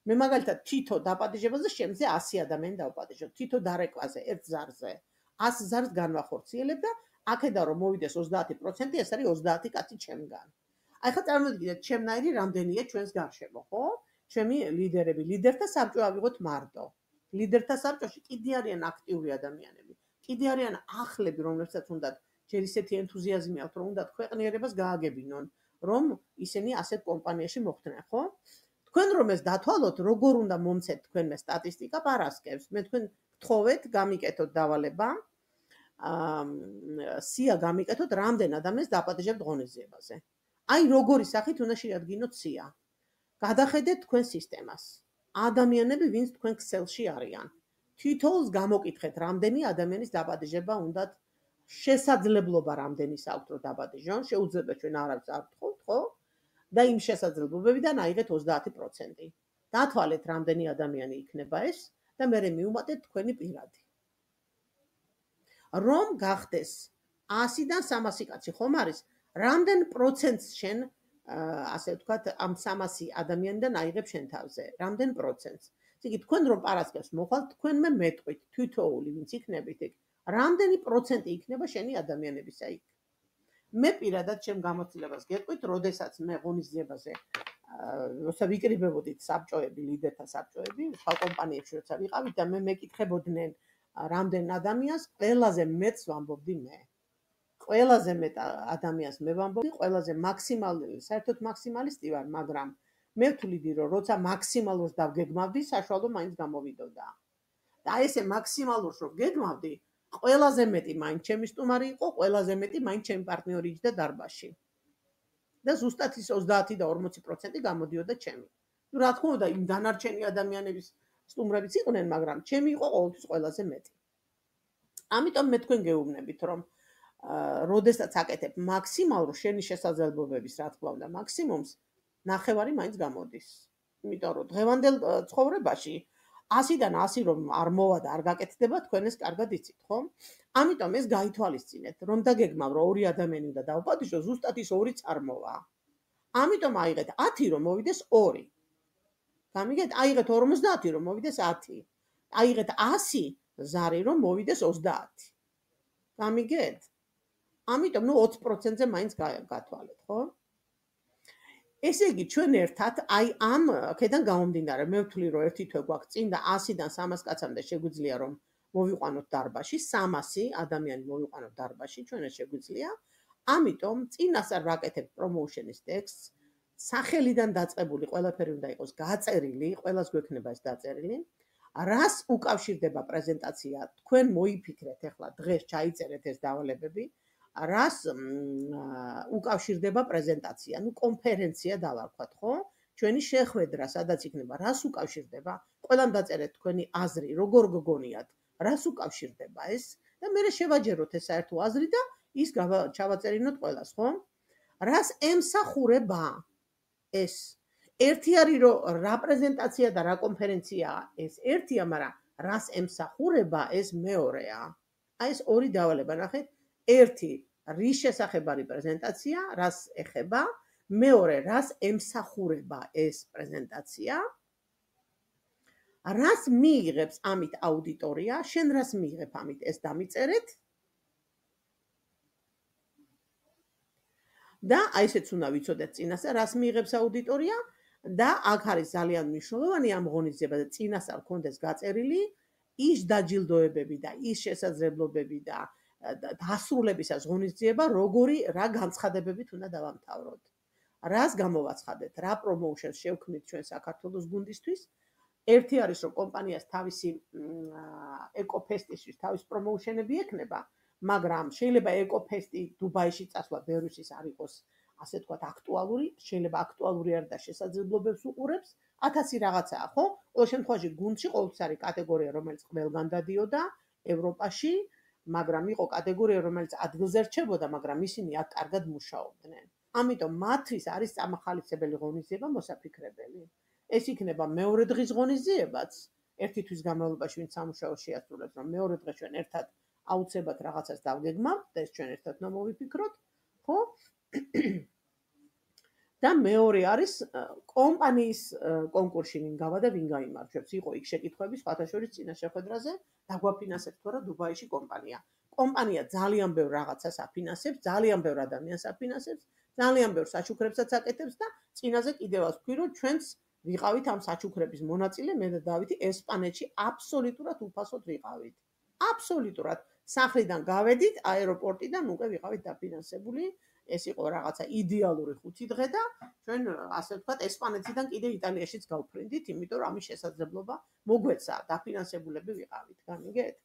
მე მაგალითად თითო დაპატიჟებაზე შემზე ასი ადამიანი დავპატიჟო, თითო დარეკვაზე ერთ ზარზე. ას ზარს განვახორციელებ და აქედან რომ მოვიდეს ოცდაათი პროცენტი, ეს არის ოცდაათი კაცი ჩემგან. აი ხა წარმოგიდგენთ, ჩემნაირი რამდენია ჩვენს გარშემო, ხო? ჩემი ლიდერები, ლიდერთა საბჭო ავიღოთ მარტო. ლიდერთა საბჭოში კიდე არიან აქტიური ადამიანები. კიდე არიან ახლები, რომლებსაც უნდა ჯერ ისეთი ენთუზიაზმი აქვთ, რომ უნდა ქვეყნიერებას გააგებინონ, რომ ისინი ასეთ კომპანიაში მოხვდნენ, ხო? თქვენ რომ ეს დათვალოთ, როგორ უნდა მომცეთ თქვენმე სტატისტიკა პარასკევს. მე თქვენ გთხოვეთ, გამიკეთოთ დავალება. აა სია გამიკეთოთ, რამდენ ადამიანს დაპატიჟებთ ღონისძიებაზე. აი როგორი სახით უნდა შეადგინოთ სია. გადახედეთ თქვენ სისტემას. ადამიანები, ვინც თქვენ ქსელში არიან. თითოეულს გამოკითხეთ, რამდენი ადამიანის დაპატიჟება უნდათ, შესაძლებლობა რამდენის აქვთ რომ დაპატიჟონ, შეუძლია ჩვენ არავის არ ვთხოვთ, ხო? და იმ შესაძლებლობებიდან აიღეთ ოცდაათი პროცენტი. დათვალეთ, რამდენი ადამიანი იქნება ეს და მერე მიუმატეთ თქვენი პირადი. რომ გახდეს ასიდან სამასი კაცი ხომ არის, რამდენ პროცენტს შენ ასე ვთქვათ, ამ სამასი ადამიანიდან აიღებ შენ თავზე, რამდენ პროცენტს. იგი თქვენ რომ პარასკევს მოხვალთ, თქვენმე მეტყვით, თითოეული ვინც იქნებით იქ, რამდენი პროცენტი იქნება შენი ადამიანებისა იქ. მე პირადად ჩემ გამოცდილებას გეტყვით, როდესაც მე ღონისძიებაზე როცა ვიკრიბებოდით საბჭოები, ლიდერთა საბჭოები, სხვა კომპანიებში როცა ვიყავით და მე მეკითხებოდნენ რამდენ ადამიანს, ყველაზე მეტს ვამბობდი მე. ყველაზე მეტ ადამიანს მე ვამბობდი, ყველაზე მაქსიმალური, საერთოდ მაქსიმალისტი ვარ, მაგრამ მე ვთვლიდი, რომ როცა მაქსიმალურს დავგეგმავდი, საშუალო მაინც გამოვიდოდა. და ესე მაქსიმალურს რომ გეგმავდი, ყველაზე მეტი მაინც ჩემი სტუმარი იყო, ყველაზე მეტი მაინც ჩემი პარტნიორი იჯდა დარბაზში. და ზუსტად ის ოცდაათი და ორმოცი პროცენტი გამოდიოდა ჩემი. ნუ რა თქმა უნდა, იმ დანარჩენი ადამიანების სტუმრებიც იყვნენ, მაგრამ ჩემი იყო ყოველთვის ყველაზე მეტი. ამიტომ მე თქვენ გეუბნებით, რომ როდესაც აკეთებ მაქსიმალურ შენი შესაძლებლობების, რა თქმა უნდა, მაქსიმუმს, ნახევარი მაინც გამოდის. იმიტომ რომ დღევანდელ ცხოვრებაში ასიდან ასი რომ არ მოვა და არ გაკეთდება, თქვენ ეს კარგად იცით, ხო? ამიტომ ეს გაითვალისწინეთ, რომ დაგეგმავ, რომ ორი ადამიანი უნდა დავპატიჟო, ზუსტად ის ორიც არ მოვა. ამიტომ აიღეთ ათი რომ მოვიდეს ორი. გამიგეთ, აიღეთ ორმოცდაათი რომ მოვიდეს ათი. აიღეთ ასი ზარი რომ მოვიდეს ოცდაათი. გამიგეთ? ამიტომ ნუ ოცი პროცენტზე მაინც გათვალეთ, ხო? ესე იგი, ჩვენ ერთად აი ამ აქედან გამომდინარე, მე ვთვლი, რომ ერთი თვე გვაქვს წინ და ასიდან სამას კაცამდე შეგვიძლია რომ მოვიყვანოთ დარბაზში, სამასი ადამიანი მოვიყვანოთ დარბაზში, ჩვენ ეს შეგვიძლია. ამიტომ წინასწარ ვაკეთებ პრომოუშენის ტექსტს, სახელიდან დაწყებული ყველაფერი უნდა იყოს გაწერილი, ყველას გვექნება ეს დაწერილი. რას უკავშირდება პრეზენტაცია, თქვენ მოიფიქრეთ ახლა დღეს ჩაიწერეთ ეს დავალებები. რას უკავშირდება პრეზენტაცია, ნუ კონფერენცია დავარქვათ, ხო? ჩვენი შეხვედრა, სადაც იქნება, რას უკავშირდება? ყველამ დაწერეთ თქვენი აზრი, როგორ გგონიათ, რას უკავშირდება ეს? და მე შევაჯეროთ ეს საერთო აზრი და ის ჩავაწერინოთ ყველას, ხო? რას ემსახურება ეს? ერთი არის რომ რა პრეზენტაცია და რა კონფერენციაა, ეს ერთია, მაგრამ რას ემსახურება ეს მეორეა. აი ეს ორი დავალება ნახეთ. ერთი რის შესახებ არის პრეზენტაცია, რას ეხება, მეორე რას ემსახურება ეს პრეზენტაცია, რას მიიღებს ამით აუდიტორია, შენ რას მიიღებ ამით ეს დამიწერეთ და აი ესეც უნდა ვიცოდეთ წინასწარ, რას მიიღებს აუდიტორია და აქ არის ძალიან მნიშვნელოვანი ამ ღონისძიებაზე წინასწარ გქონდეს გაწერილი ის დაჯილდოებები და ის შესაძლებლობები და დასრულებისას ღონისძიება, როგორი რა განცხადებებით უნდა დავამთავროთ. რას გამოვაცხადეთ, რა პრომოუშენს შევქმნით ჩვენ საქართველოს გუნდისთვის. ერთი არის რომ კომპანიას თავისი ეკოფესტისთვის თავის პრომოუშენები ექნება, მაგრამ შეიძლება ეკოფესტი დუბაიში წასვლა ბევრისთვის არ იყოს, ასე ვთქვათ, აქტუალური, შეიძლება აქტუალური არ და შესაძლებლობებს უყურებს, ათასი რაღაცაა, ხო? ყოველ შემთხვევაში გუნდში ყოველთვის არის კატეგორია, რომელიც ყველგან დადიოდა ევროპაში, მაგრამ იყო კატეგორია, რომელიც ადგილზე რჩებოდა, მაგრამ ისინი აქ კარგად მუშაობდნენ. ამიტომ მათთვის არის წამახალისებელი ღონისძიება მოსაფიქრებელი. ეს იქნება მეორე დღის ღონისძიებაც, ერთი თვის განმავლობაში ვინც სამუშაოს შეასრულებს, რომ მეორე დღეს ჩვენ ერთად აუცილებლად რაღაცას დავგეგმავთ და ეს ჩვენ ერთად უნდა მოვიფიქროთ. ხო? და მეორე არის კომპანიის კონკურსში ვინ გავა და ვინ გაიმარჯვებს. იყო იქ შეკითხვები სხვათა შორის წინა შეხვედრაზე, დაგვაფინანსებთ თუ არა დუბაიში კომპანია. კომპანია ძალიან ბევრ რაღაცას აფინანსებს, ძალიან ბევრ ადამიანს აფინანსებს, ძალიან ბევრ საჩუქრებსაც აკეთებს და წინაზე კიდევ azt ვთქვი, რომ ჩვენც ვიყავით ამ საჩუქრების მონაწილე, მე და დავითი ესპანეთში აბსოლუტურად უფასოდ ვიყავით. აბსოლუტურად სახლიდან გავედით აეროპორტიდან უკვე ვიყავით დაფინანსებული. ეს იყო რაღაცა იდეალური ხუთი დღე და ჩვენ ასე ვთქვათ ესპანეთიდან კიდე იტალიაშიც გავფრინდით, იმიტომ რომ ამის შესაძლებლობა მოგვეცა, დაფინანსებულები ვიყავით, გამიგეთ?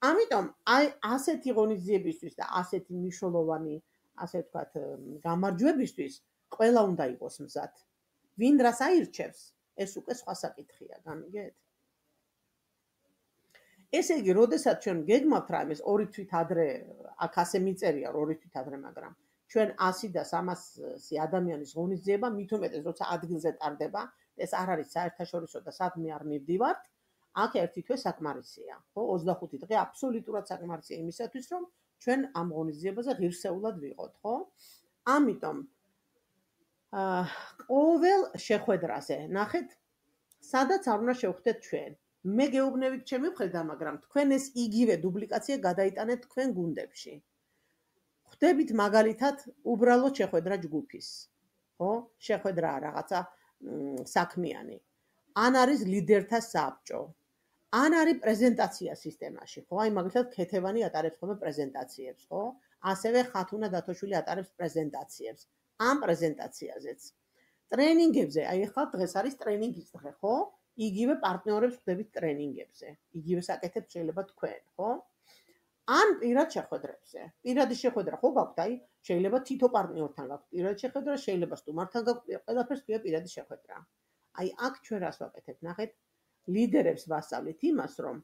ამიტომ აი ასეთი ღონისძიებისთვის და ასეთი მნიშვნელოვანი, ასე ვთქვათ, გამარჯვებისთვის ყველა უნდა იყოს მზად. ვინ რას აირჩევს, ეს უკვე სხვა საკითხია, გამიგეთ? ესე იგი, როდესაც ჩვენ გეგმავთ რაიმეს ორი თვით ადრე, აქ ასე მიწერია ორი თვით ადრე, მაგრამ ჩვენ ასი და სამასი ადამიანის ღონისძიება, მით უმეტეს, როცა ადგილზე ტარდება, ეს არ არის საერთაშორისო და სადმე არ მივდივართ, აქ ერთი თვე საკმარისია, ხო? ოცდახუთი დღე აბსოლუტურად საკმარისია იმისათვის, რომ ჩვენ ამ ღონისძიებაზე ღირსეულად ვიყოთ, ხო? ამიტომ აა ყოველ შეხვედრაზე, ნახეთ, სადაც არ უნდა შევხვდეთ ჩვენ. მე გეუბნებით ჩემი მხრიდან, მაგრამ თქვენ ეს იგივე დუპლიკაცია გადაიტანეთ თქვენ გუნდებში. ხვდებით მაგალითად უბრალოდ შეხვედრა ჯგუფის, ხო? შეხვედრა რაღაცა საქმიანი. ან არის ლიდერთა საბჭო. ან არის პრეზენტაცია სისტემაში, ხო? აი მაგალითად ქეთევანი ატარებს ხოლმე პრეზენტაციებს, ხო? ასევე ხათუნა დათოშვილი ატარებს პრეზენტაციებს. ამ პრეზენტაციაზეც. ტრენინგებზე, აი ახლა დღეს არის ტრენინგის დღე, ხო? იგივე პარტნიორებს ხვდებით ტრენინგებზე. იგივე საკეთებთ შეიძლება თქვენ, ხო? ან პირად შეხვედრებზე. პირადი შეხვედრა ხო გაქვთ, აი შეიძლება თითო პარტნიორთან გაქვთ პირადი შეხვედრა, შეიძლება სტუმართან გაქვთ, ყველაფერს ქვია პირადი შეხვედრა. აი აქ ჩვენ რას ვაკეთებთ, ნახეთ, ლიდერებს ვასწავლით იმას, რომ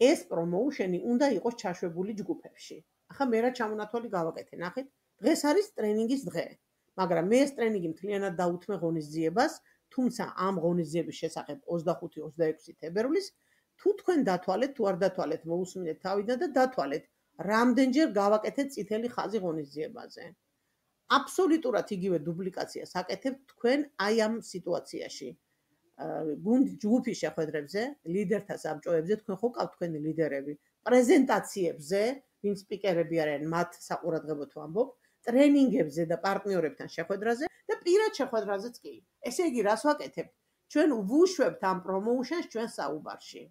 ეს პრომოუშენი უნდა იყოს ჩაშვებული ჯგუფებში. ახლა მე რა ჩამონათვალი გავაკეთე, ნახეთ, დღეს არის ტრენინგის დღე, მაგრამ მე ეს ტრენინგი მთლიანად დაუთმე ღონისძიებას, თუმცა ამ ღონისძიების შესახებ ოცდახუთი ოცდაექვსი თებერვლის თუ თქვენ დათვალეთ, თუ არ დათვალეთ, მოусმინეთ თავიდან და დათვალეთ, რამდენჯერ გავაკეთეთ წითელი ხაზი ღონისძიებაზე. აბსოლუტურად იგივე დუპლიკაციას აკეთებთ თქვენ აი ამ სიტუაციაში. გუნდ ჯგუფის შეხვედრებზე, ლიდერთა საბჭოებზე, თქვენ ხო ყავთ თქვენი ლიდერები, პრეზენტაციებზე, ვინ სპიკერები არიან, მათ საყურადღებოდ ვამბობ, ტრენინგებზე და პარტნიორებთან შეხვედრაზე და პირად შეხვედრაზეც კი. ესე იგი, რას ვაკეთებთ? ჩვენ ვუშვებთ ამ პრომოუშენს ჩვენ საუბარში.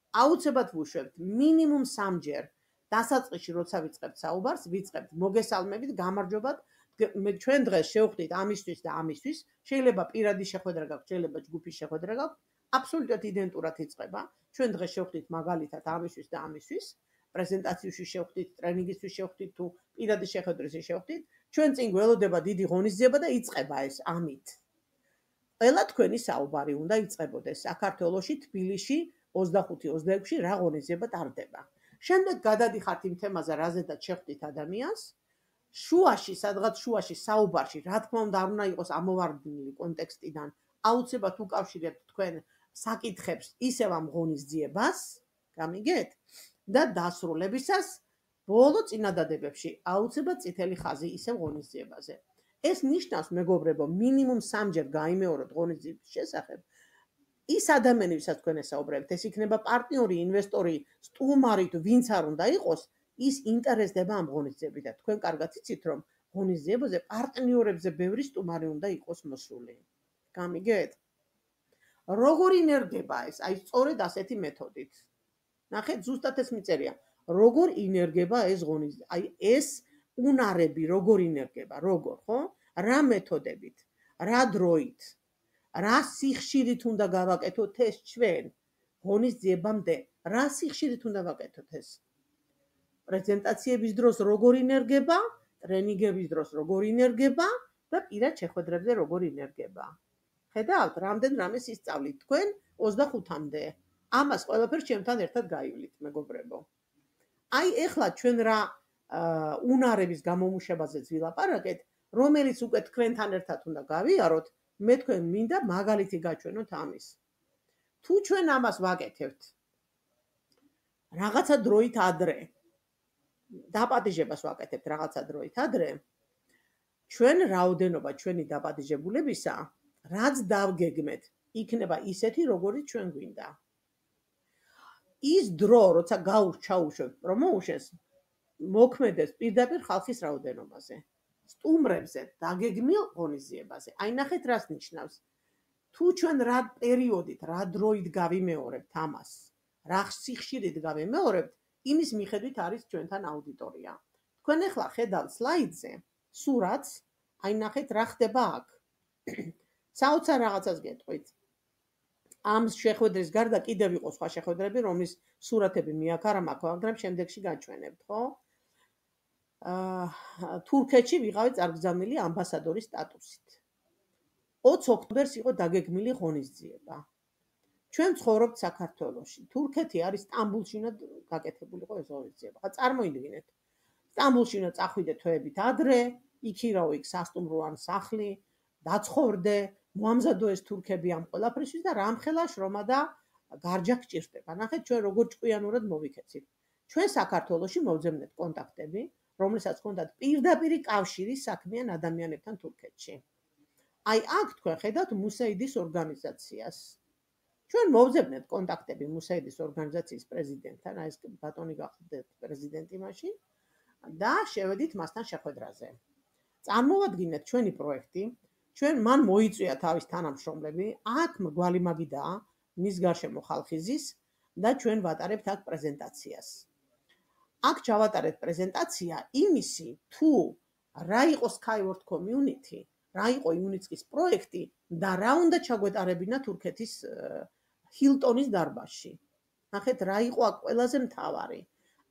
აუცილებლად ვუშვებთ მინიმუმ სამჯერ დასაწყისში, როცა ვიწყებთ საუბარს, ვიწყებთ მოგესალმებით, გამარჯობათ, ჩვენ დღეს შევხვდით ამისთვის და ამისთვის, შეიძლება პირადი შეხვედრა გაქვთ, შეიძლება ჯგუფის შეხვედრა გაქვთ, აბსოლუტურად იდენტურად იწყება. ჩვენ დღეს შევხვდით მაგალითად ამისთვის და ამისთვის, პრეზენტაციაში შევხვდით, ტრენინგისთვის შევხვდით თუ პირადი შეხვედრაზე შევხვდით, ჩვენ წინ გველოდება დიდი ღონისძიება და იწყება ეს ამით. ყველა თქვენი საუბარი უნდა იწყებოდეს საქართველოში, თბილისში, ოცდახუთი ოცდაექვსი რა ღონისძიება ტარდება. შემდეგ გადადიხართ იმ თემაზე, რაზედაც შეხვდით ადამიანს. შუაში, სადღაც შუაში საუბარში, რა თქმა უნდა, არ უნდა იყოს ამოვარდნილი კონტექსტიდან, აუცილებლად უკავშირებთ თქვენ საკითხებს ისევ ამ ღონისძიებას, გამიგეთ? და დასრულებისას ბოლო წინადადებებში აუცილებლად წითელი ხაზი ისევ ღონისძიებაზე. ეს ნიშნავს, მეგობრებო, მინიმუმ სამჯერ გაიმეოროთ ღონისძიების შესახებ. ის ადამიანი, ვისაც თქვენ ესაუბრებთ, ეს იქნება პარტნიორი, ინვესტორი, სტუმარი თუ ვინც არ უნდა იყოს, ის ინტერესდება ამ ღონისძიებით და თქვენ კარგად იცით, რომ ღონისძიებაზე პარტნიორებზე ბევრი სტუმარი უნდა იყოს მოსული. გამიგეთ? როგორ ინერგება ეს? აი სწორედ ასეთი მეთოდით. ნახეთ, ზუსტად ეს მიწერია. როგორ ინერგება ეს ღონისძიება? აი ეს უნარები როგორ ინერგება, როგორ, ხო? რა მეთოდებით, რა დროით, რა სიხშირით უნდა გავაკეთოთ ეს ჩვენ ღონისძიებამდე, რა სიხშირით უნდა ვაკეთოთ ეს? პრეზენტაციების დროს როგორ ინერგება, ტრენინგების დროს როგორ ინერგება და პირად შეხვედრებზე როგორ ინერგება. ხედავთ, რამდენ რამეს ისწავლით თქვენ ოცდახუთამდე. ამას ყველაფერს ჩემთან ერთად გაივლით, მეგობრებო. აი ეხლა ჩვენ რა უნარების გამომუშავებაზეც ვილაპარაკეთ, რომელიც უკვე თქვენთან ერთად უნდა გავიაროთ, მე თქვენ მინდა მაგალითი გაჩვენოთ ამის. თუ ჩვენ ამას ვაკეთებთ რაღაცა დროით ადრე, დაპატიჟებას ვაკეთებთ რაღაცა დროით ადრე, ჩვენ რაოდენობა ჩვენი დაპატიჟებულებისა, რაც დავგეგმეთ, იქნება ისეთი, როგორიც ჩვენ გვინდა. ის დრო, როცა გაურჩაუშვებთ პრომოუშენს, მოქმედებს პირდაპირ ხალხის რაოდენობაზე. სტუმრებზე დაგეგმილ ღონისძიებაზე. აი ნახეთ რას ნიშნავს. თუ ჩვენ რა პერიოდით, რა დროით გავიმეორებთ ამას, რა სიხშირით გავიმეორებთ, იმის მიხედვით არის ჩვენთან აუდიტორია. თქვენ ახლა ხედავთ სლაიდზე სურათს, აი ნახეთ რა ხდება აქ. საოცარ რაღაცას გეტყვით. ამ შეხვედრის გარდა კიდევ იყო სხვა შეხვედრები, რომლის სურათები მე აქ არ მაქვს, მაგრამ შემდეგში გაჩვენებთ, ხო? აა თურქეთში ვიყავი წარგზავნილი ამბასადორის სტატუსით. ოცი ოქტომბერს იყო დაგეგმილი ღონისძიება. ჩვენ ცხოვრობთ საქართველოში. თურქეთი არის სტამბულში უნდა გაკეთებულიყო ეს ღონისძიება. ხა წარმოიდგინეთ. სტამბულში უნდა წახვიდე თვეებით ადრე, იქირავო იქ სასტუმრო ან სახლი, დაცხოვრდე, მოამზადო ეს თურქები ამ ყველაფრისთვის და რამხელა შრომა და გარჯა გჭირდება. ნახეთ ჩვენ როგორ ჭკვიანურად მოვიქეცით. ჩვენ საქართველოში მოვძებნეთ კონტაქტები, რომლებსაც ჰქონდათ პირდაპირი კავშირი საქმიან ადამიანებთან თურქეთში. აი აქ თქვენ ხედავთ მუსეიდის ორგანიზაციას. ჩვენ მოვძებნეთ კონტაქტები მუსეიდის ორგანიზაციის პრეზიდენტთან, აი ეს ბატონი გახდეთ პრეზიდენტი მაშინ და შევედით მასთან შეხვედრაზე. წარმოვადგინეთ ჩვენი პროექტი, ჩვენ მან მოიწვია თავის თანამშრომლები, აქ მრგვალი მაგიდაა, მის გარშემო ხალხი ზის და ჩვენ ვატარებთ აქ პრეზენტაციას. აქ ჩავატარეთ პრეზენტაცია იმისი, თუ რა იყო Skyward Community, რა იყო იუნიცკის პროექტი და რა უნდა ჩაგვეტარებინა თურქეთის ჰილტონის დარბაზში. ნახეთ რა იყო აქ ყველაზე მთავარი.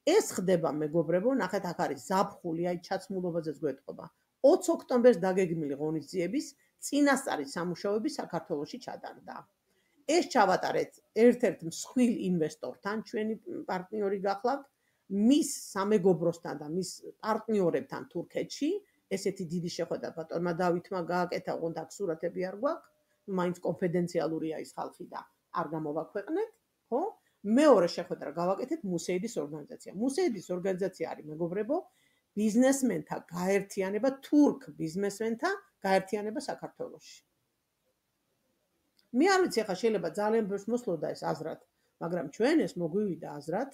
ეს ხდება მეგობრებო, ნახეთ აქ არის ზაფხული, აი ჩაცმულობაზეც გვეტყობა. ოცი ოქტომბერს დაგეგმილი ღონისძიების წინასწარი სამუშაოები საქართველოში ჩატარდა. ეს ჩავატარეთ ერთ-ერთ მსხვილ ინვესტორთან, ჩვენი პარტნიორი გახლავთ, მის სამეგობროსთან და მის პარტნიორებთან თურქეთში, ესეთი დიდი შეხვედრა ბატონმა დავითმა გააკეთა, ოღონდ აქ სურათები არ გვაქვს, მაინც კონფიდენციალურია ის ხალხი და არ გამოვაქვეყნეთ, ხო? მეორე შეხვედრა გავაკეთეთ მუსეიდის ორგანიზაცია. მუსეიდის ორგანიზაცია არის მეგობრებო, ბიზნესმენთა გაერთიანება, თურქ ბიზნესმენთა გაერთიანება საქართველოში. მე არ ვიცი, ახლა შეიძლება ძალიან ბევრს მოსლოდა ეს აზრად, მაგრამ ჩვენ ეს მოგვივიდა აზრად,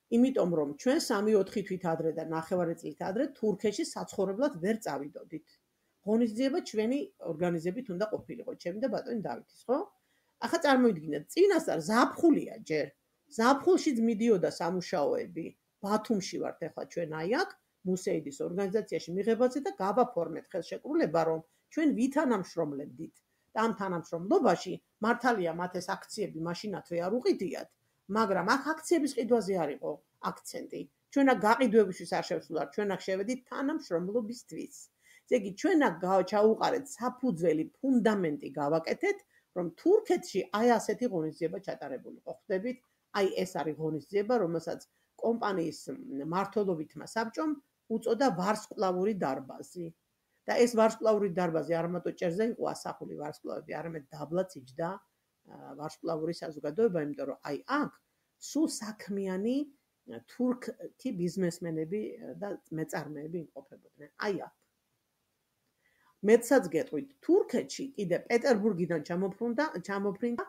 იმიტომ რომ ჩვენ სამი-ოთხი თვით ადრე და ნახევარი წლით ადრე თურქეთში საცხოვრებლად ვერ წავიდოდით. ღონისძიება ჩვენი ორგანიზებით უნდა ყოფილიყო, ჩემი და ბატონი დავითის, ხო? ახლა წარმოიდგინეთ, წინასწარ ზაფხულია ჯერ. ზაფხულშიც მიდიოდა სამუშაოები. ბათუმში ვართ ახლა ჩვენ აი აქ, მუსეიდის ორგანიზაციაში მიღებაზე და გავაფორმეთ ხელშეკრულება, რომ ჩვენ ვითანამშრომლებდით. და ამ თანამშრომლობაში მართალია მათ ეს აქციები მაშინათვე არ უყიდიათ, მაგრამ აქ აქციების ყიდვაზე არ იყო აქცენტი. ჩვენ აქ გაყიდვებისთვის არ შევსულართ, ჩვენ აქ შევედით თანამშრომლობისთვის. ესე იგი, ჩვენ აქ ჩაუყარეთ საფუძველი, ფუნდამენტი გავაკეთეთ, რომ თურქეთში აი ასეთი ღონისძიება ჩატარებულიყო. ხვდებით, აი ეს არის ღონისძიება, რომელსაც კომპანიის მმართველობითმა საბჭომ უწოდა ვარსკვლავური დარბაზი. და ეს ვარსკვლავური დარბაზი არ მარტო ჭერზე იყო ასახული ვარსკვლავები, არამედ დაბლაც იჯდა ვარსკვლავური საზოგადოება, იმიტომ რომ აი აქ სულ საქმიანი თურქი ბიზნესმენები და მეწარმეები იმყოფებოდნენ. აი აქ. მეცაც გეტყვით, თურქეთში კიდე პეტერბურგიდან ჩამოფრინდა, ჩამოფრინდა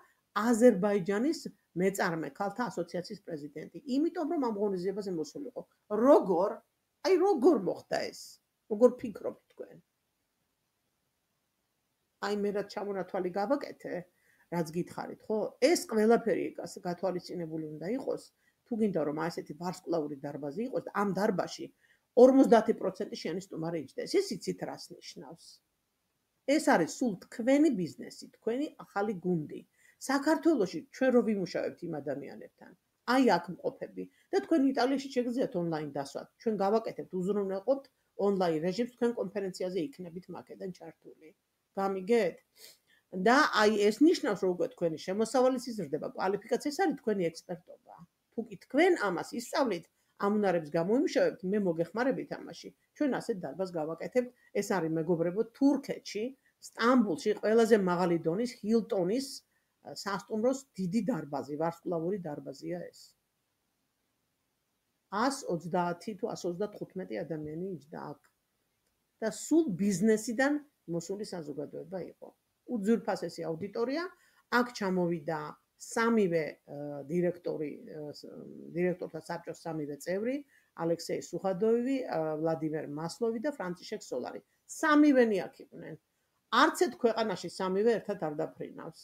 აზერბაიჯანის მეწარმე ქალთა ასოციაციის პრეზიდენტი. იმიტომ რომ ამ ღონისძიებაზე მოსულიყო. როგორ? აი როგორ მოხდა ეს? როგორ ფიქრობთ თქვენ? აი მე რაც ჩამონათვალი გავაკეთე, რაც გითხარით, ხო? ეს ყველაფერი გათვალისწინებული უნდა იყოს, თუ გინდა რომ ასეთი ვარსკვლავური დარბაზი იყოს და ამ დარბაზში ორმოცდაათი პროცენტი შენი სტუმარი იჯდეს. ეს იცით რას ნიშნავს? ეს არის სულ თქვენი ბიზნესი, თქვენი ახალი გუნდი. საქართველოში ჩვენ რო ვიმუშავებთ იმ ადამიანებთან, აი აქ მყოფები და თქვენ იტალიაში შეგიძლიათ ონლაინ დასვათ. ჩვენ გავაკეთებთ, უზრუნველყოფთ ონლაინ რეჟიმს, თქვენ კონფერენციაზე იქნებით მაკედან ჩართული. გამიგეთ? და აი ეს ნიშნავს, რომ უკვე თქვენი შემოსავალიც იზრდება, კვალიფიკაცია, ეს არის თქვენი ექსპერტობა. თუ კი თქვენ ამას ისწავლით, ამ უნარებს გამოიმუშავებთ, მე მოგეხმარებით ამაში. ჩვენ ასეთ დარბაზს გავაკეთებთ, ეს არის მეგობრებო თურქეთში, სტამბულში ყველაზე მაღალი დონის ჰილტონის სასტუმროს დიდი დარბაზი, ვარსკვლავური დარბაზია ეს. ასი ოცდაათი თუ ასი ოცდათხუთმეტი ადამიანი იჯდა აქ. და სულ ბიზნესიდან მოსული საზოგადოება იყო. უძვირფასესი აუდიტორია, აქ ჩამოვიდა სამივე დირექტორი, დირექტორთა საბჭოს სამივე წევრი, ალექსეი სუხადოევი, ვლადიმერ მასლოვი და ფრანციშეკ სოლარი. სამივენი აქ იყვნენ. არც ერთ ქვეყანაში სამივე ერთად არ დაფრინავს.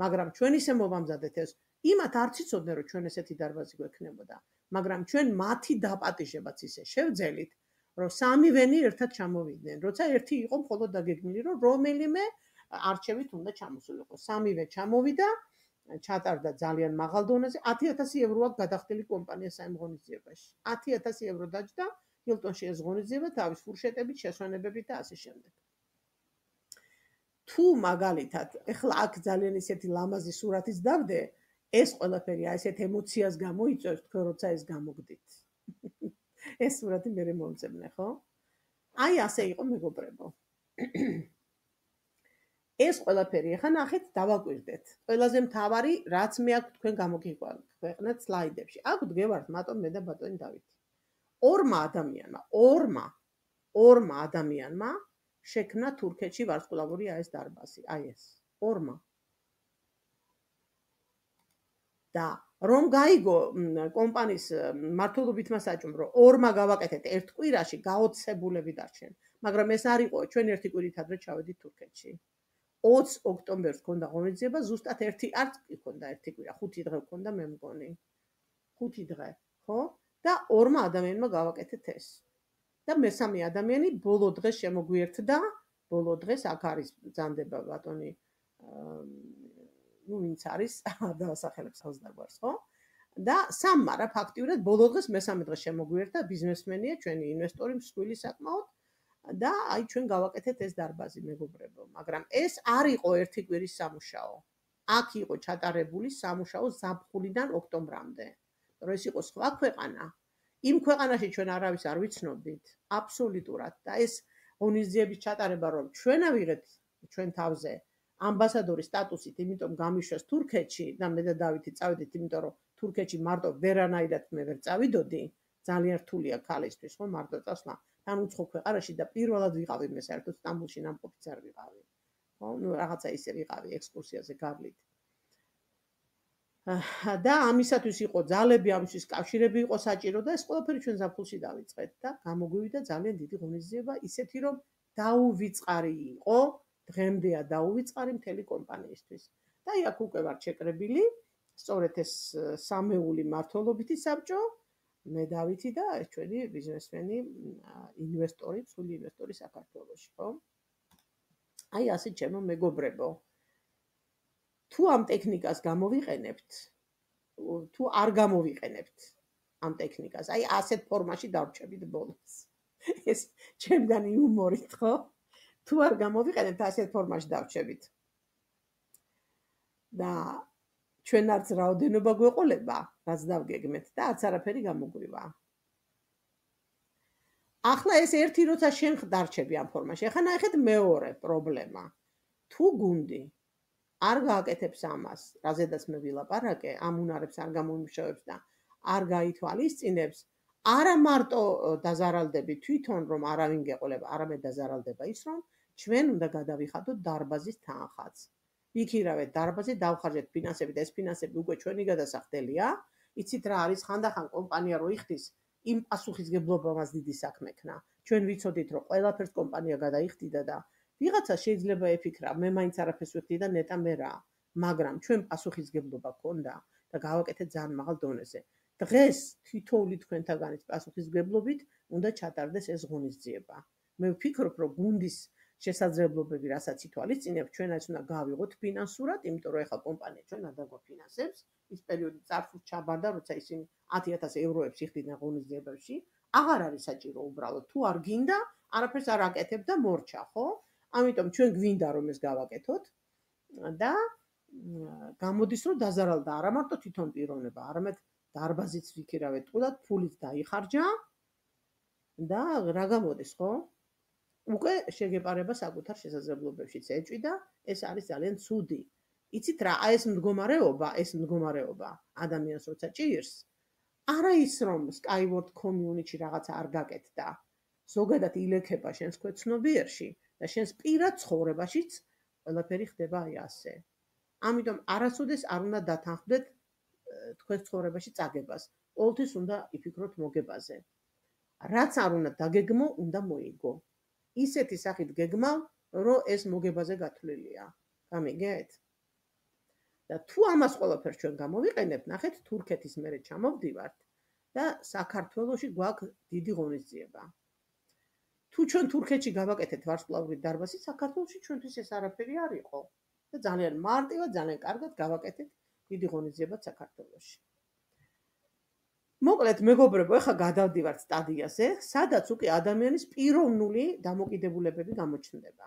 მაგრამ ჩვენ ისე მოვამზადეთ ეს, იმათ არც იცოდნენ, რომ ჩვენ ესეთი დარბაზი გვექნებოდა, მაგრამ ჩვენ მათი დაპატიჟებაც ისე შევძელით, რომ სამივენი ერთად ჩამოვიდნენ, როცა ერთი იყო მხოლოდ დაგეგმილი, რომ რომელიმე არჩევით უნდა ჩამოსულიყო. სამივე ჩამოვიდა, ჩატარდა ძალიან მაღალ დონეზე, ათი ათასი ევრო აქვს გადახდილი კომპანია საიმ ღონისძიებაში. ათი ათასი ევრო დაჯდა, ჰილტონში ეს ღონისძიება თავის ფურშეტებით, შესვენებებით და ასე შემდეგ. თუ მაგალითად, ეხლა აქ ძალიან ისეთი ლამაზი სურათის დავდე, ეს ყველაფერი აი ესეთ ემოციას გამოიწვევს, თქვენ როცა ეს გამოგდით. ეს სურათი მე მომწებნე, ხო? აი ასე იყო მეგობრებო. ეს ყველაფერი ახლა ნახეთ, დავაკვირდეთ. ყველაზე მთავარი, რაც მე აქ თქვენ გამოგიყვანეთ სლაიდებში. აქ ვდგევართ მარტო მე და ბატონი დავითი. ორმა ადამიანმა, ორმა, ორმა ადამიანმა შექმნა თურქეთში ვარსკვლავური აი ეს დარბაზი, აი ეს. ორმა. და რომ გაიგო კომპანიის მართლობითმა საჭმომ, რომ ორმა გავაკეთეთ ერთ კვირაში, გაოცებულები დარჩენ. მაგრამ ეს არ იყო, ჩვენ ერთი კვირით ადრე ჩავედით თურქეთში. ოცი ოქტომბერს ქონდა ღონისძიება, ზუსტად ერთი არც იქონდა ერთი კვირა, ხუთი დღე ქონდა მე მგონი. ხუთი დღე, ხო? და ორმა ადამიანმა გავაკეთეთ ეს. და მესამე ადამიანი ბოლო დღეს შემოგვიერთდა, ბოლო დღეს აქ არის ბრძანდება ბატონი ნუ ვინც არის, არ დავასახელებს ხელს დაგვარს, ხო? და სამმა რა ფაქტიურად ბოლო დღეს მესამე დღეს შემოგვიერთდა ბიზნესმენია, ჩვენი ინვესტორი მსხვილი საკმაოდ და აი ჩვენ გავაკეთეთ ეს დარბაზი მეგობრებო, მაგრამ ეს არ იყო ერთი კვირის სამუშაო. აქ იყო ჩატარებული სამუშაო ზაფხულიდან ოქტომბრამდე. რომ ეს იყო სხვა ქვეყანა, იმ ქვეყანაში ჩვენ არავის არ ვიცნობდით, აბსოლუტურად და ეს ღონისძიების ჩატარება რომ ჩვენ ავიღეთ ჩვენ თავზე ამბასადორის სტატუსით, იმიტომ გამიშვეს თურქეთში და მე და დავითი წავედით, იმიტომ რომ თურქეთში მარტო ვერანაირად მე ვერ წავიდოდი, ძალიან რთულია ქალისთვის, ხო, მარტო წასვლა თან უცხო ქვეყანაში და პირველად ვიყავი მე საერთოდ სტამბოლში ნამყოფიც არ ვიყავი. ხო, ნუ რაღაცა ისე ვიყავი ექსკურსიაზე გავლით. და ამისათვის იყო ძალები, ამისთვის კავშირები იყო საჭირო და ეს ყველაფერი ჩვენ ზაფხულში დავიწყეთ და გამოგვივიდა ძალიან დიდი ღონისძიება, ისეთი რომ დაუვიწყარი იყო, დღემდეა დაუვიწყარი მთელი კომპანიისთვის. და აი აქ უკვე ვარ შეკრებილი, სწორედ ეს სამეული მართლობითი საბჭო, მე დავითი და ეს ჩვენი ბიზნესმენი, ინვესტორი, სული ინვესტორი საქართველოში, ხო? აი ასე ჩემო მეგობრებო. თუ ამ ტექნიკას გამოვიყენებთ, თუ არ გამოვიყენებთ ამ ტექნიკას, აი ასეთ ფორმაში დავრჩებით ბოლოს. ეს ჩემგანი იუმორით, ხო? თუ არ გამოვიყენებთ ასეთ ფორმაში დავრჩებით. და ჩვენ არც რაოდენობა გვეყოლება, რაც დავგეგმეთ და არც არაფერი გამოგვივა. ახლა ეს ერთი როცა შენ დარჩები ამ ფორმაში, ახლა ნახეთ მეორე პრობლემა. თუ გუნდი არ გააკეთებს ამას, რაზედაც მე ვილაპარაკე, ამ უნარებს არ გამოიმუშავებს და არ გაითვალისწინებს, არა მარტო დაზარალდები თვითონ რომ არავინ გეყოლება, არამედ დაზარალდება ის რომ ჩვენ უნდა გადავიხადოთ დარბაზის თანხაც. ვიქირავეთ დარბაზი, დავხარჯეთ ფინანსები და ეს ფინანსები უკვე ჩვენი გადასახდელია. იცით რა არის ხანდახან კომპანია რო იხდის, იმ პასუხისგებლობამაც დიდი საქმე ქნა. ჩვენ ვიცოდით რომ ყველაფერს კომპანია გადაიხდიდა და ვიღაცა შეიძლება ეფიქრა, მე მაინც არაფერს ვიხდი და ნეტა მე რა, მაგრამ ჩვენ პასუხისგებლობა გქონდა და გავაკეთეთ ძალიან მაღალ დონეზე. დღეს თითოეული თქვენთაგანის პასუხისგებლობით უნდა ჩატარდეს ეს ღონისძიება. მე ვფიქრობ, რომ გუნდის შესაძლებლობები, რასაც ითვალისწინებთ, ჩვენ ეს უნდა გავიღოთ ფინანსურად, იმიტომ რომ ეხლა კომპანია ჩვენ არ დაგვაფინანსებს, ის პერიოდი წარსულს ჩაბარდა, როცა ისინი ათი ათასი ევროებს იხდიდნენ ღონისძიებებში, აღარ არის საჭირო უბრალოდ, თუ არ გინდა, არაფერს არ აკეთებ და მორჩა, ხო? ამიტომ ჩვენ გვინდა რომ ეს გავაკეთოთ და გამოდის რომ დაზარალდა არა მარტო თვითონ პიროვნება, არამედ დარბაზიც ვიქირავეთ ტყუილად, ფულით დაიხარჯა და რა გამოდის, ხო? უკვე შეგეპარება საკუთარ შესაძლებლობებშიც ეჭვი და ეს არის ძალიან ცუდი. იცით რა, აი ეს მდგომარეობა, ეს მდგომარეობა ადამიანს როცა ჭირს, არა ის რომ Skyward Community რაღაცა არ გაკეთდა. ზოგადად ილექება შენს ქვეცნობიერში და შენს პირად ცხოვრებაშიც ყველაფერი ხდება აი ასე. ამიტომ არასოდეს არ უნდა დათანხმდეთ თქვენ ცხოვრებაში წაგებას. ყოველთვის უნდა იფიქროთ მოგებაზე. რაც არ უნდა დაგეგმო, უნდა მოიგო. ისეთი სახით გეგმავ, რომ ეს მოგებაზე გათვლილია. გამიგეთ? და თუ ამას ყველაფერს ჩვენ გამოვიყენებთ, ნახეთ თურქეთის მერე ჩამოვდივართ და საქართველოში გვაქვს დიდი ღონისძიება. თუ ჩვენ თურქეთში გავაკეთეთ ვარსკვლავური დარბაზი, საქართველოში ჩვენთვის ეს არაფერი არ იყო. და ძალიან მარტივად, ძალიან კარგად გავაკეთეთ დიდი ღონისძიება საქართველოში. მოკლედ, მეგობრებო, ეხლა გადავდივართ სტადიაზე, სადაც უკვე ადამიანის პიროვნული დამოკიდებულებები გამოჩნდება.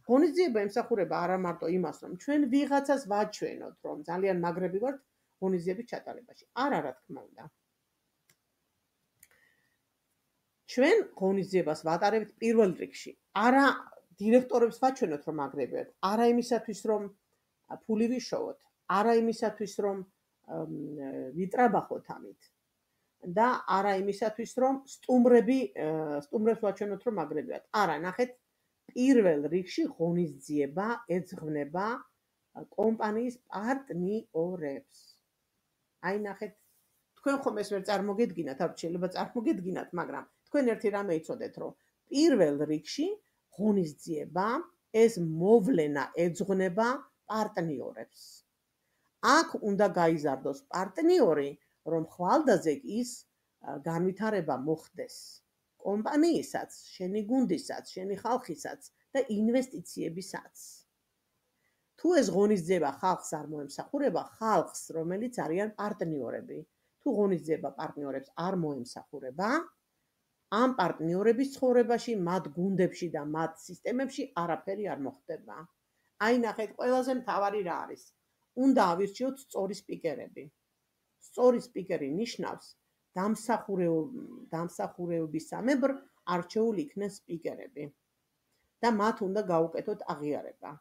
ღონისძიება ემსახურება არა მარტო იმას, რომ ჩვენ ვიღაცას ვაჩვენოთ, რომ ძალიან მაგრები ვართ ღონისძიების ჩატარებაში. არა, რა თქმა უნდა. ჩვენ ღონისძიებას ვატარებთ პირველ რიგში. არა დირექტორებს ვაჩვენოთ, რომ მაგრები ვართ, არა იმისათვის, რომ ფული ვიშოვოთ, არა იმისათვის, რომ ვიტრაბახოთ ამით. და არა იმისათვის, რომ სტუმრები, სტუმრებს ვაჩვენოთ, რომ მაგრები ვართ. არა, ნახეთ, პირველ რიგში ღონისძიება ეძღვნება კომპანიის პარტნიორებს. აი ნახეთ, თქვენ ხომ ეს ვერ წარმოგედგინათ, არ შეიძლება წარმოგედგინათ, მაგრამ თქვენ ერთი რამე იცოდეთ, რომ პირველ რიგში ღონისძიება ეს მოვლენა ეძღვნება პარტნიორებს. აქ უნდა გაიზარდოს პარტნიორი, რომ ხვალდაზე ის განვითარება მოხდეს კომპანიისაც, შენი გუნდისაც, შენი ხალხისაც და ინვესტიციებისაც. თუ ეს ღონისძიება ხალხს არ მოემსახურება, ხალხს, რომელიც არიან პარტნიორები, თუ ღონისძიება პარტნიორებს არ მოემსახურება, ამ პარტნიორების ცხოვრებაში, მათ გუნდებში და მათ სისტემებში არაფერი არ მოხდება. აი ნახეთ, ყველაზე მთავარი რა არის? უნდა ავირჩიოთ სწორი სპიკერები. სწორი სპიკერი ნიშნავს დამსახურებისამებრ არჩეულ იქნენ სპიკერები და მათ უნდა გაუკეთოთ აღიარება.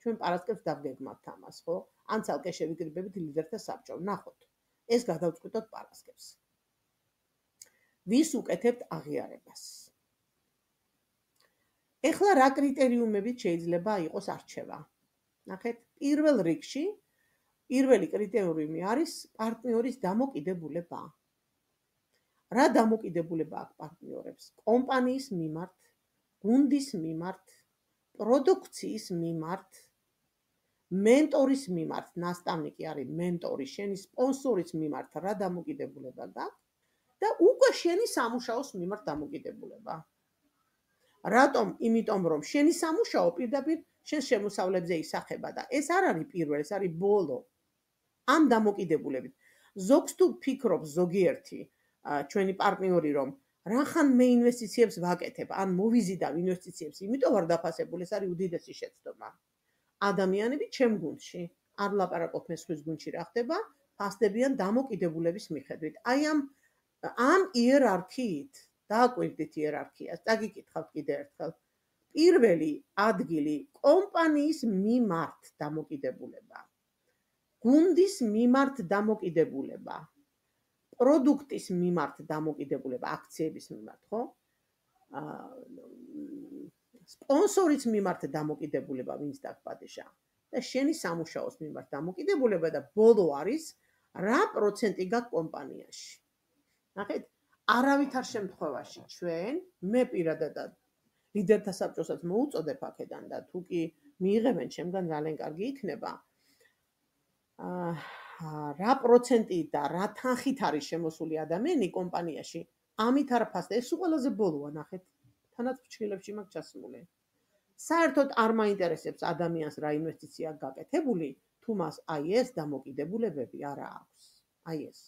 ჩვენ პარასკევს დავგეგმავთ ამას, ხო? ან ცალკე შევიკრიბებით ლიდერთა საბჭომ. ნახოთ, ეს გადავწყვიტოთ პარასკევს. ვის უკეთებთ აღიარებას? ეხლა რა კრიტერიუმებით შეიძლება იყოს არჩევა? ნახეთ, პირველ რიგში პირველი კრიტერიუმი არის პარტნიორის დამოკიდებულება. რა დამოკიდებულება აქვს პარტნიორებს? კომპანიის მიმართ, გუნდის მიმართ, პროდუქციის მიმართ, მენტორის მიმართ, ნასწავლნიკი არის მენტორი, შენი სპონსორის მიმართ რა დამოკიდებულება გაქვს და უკვე შენი სამუშაოს მიმართ დამოკიდებულება. რატომ? იმიტომ რომ შენი სამუშაო პირდაპირ შენ შემოსავლებზე ისახება და ეს არ არის პირველი, ეს არის ბოლო. ამ დამოკიდებულებით. ზოგს თუ ფიქრობს ზოგიერთი ჩვენი პარტნიორი, რომ რახან მე ინვესტიციებს ვაკეთებ, ან მოვიზიდავ ინვესტიციებს, იმიტომ არ დაფასებული, ეს არის უდიდესი შეცდომა. ადამიანები ჩემ გუნდში არ ვლაპარაკობ მე სხვის გუნდში რა ხდება, ფასდებიან დამოკიდებულების მიხედვით. აი ამ ამ იერარქიით დააკვირდით იერარქიას, დაგიკითხავთ კიდე ერთხელ. პირველი ადგილი კომპანიის მიმართ დამოკიდებულება. გუნდის მიმართ დამოკიდებულება. პროდუქტის მიმართ დამოკიდებულება, აქციების მიმართ, ხო? სპონსორის მიმართ დამოკიდებულება, ვინც დაგპატიჟა და შენი სამუშაოს მიმართ დამოკიდებულება და ბოლო არის რა პროცენტი გაქვს კომპანიაში. ნახეთ, არავითარ შემთხვევაში ჩვენ, მე პირადად ლიდერთა საბჭოსაც მოუწოდებ აქედან და თუ კი მიიღებენ ჩემგან ძალიან კარგი იქნება. რა პროცენტი და რა თანხით არის შემოსული ადამიანი კომპანიაში, ამით არ ფასდება. ეს ყველაზე ბოლოა, ნახეთ, თანაც ფრჩხილებში მაქვს ჩასმული. საერთოდ არ მაინტერესებს ადამიანს რა ინვესტიცია გაკეთებული, თუ მას აი ეს დამოკიდებულებები არა აქვს. აი ეს.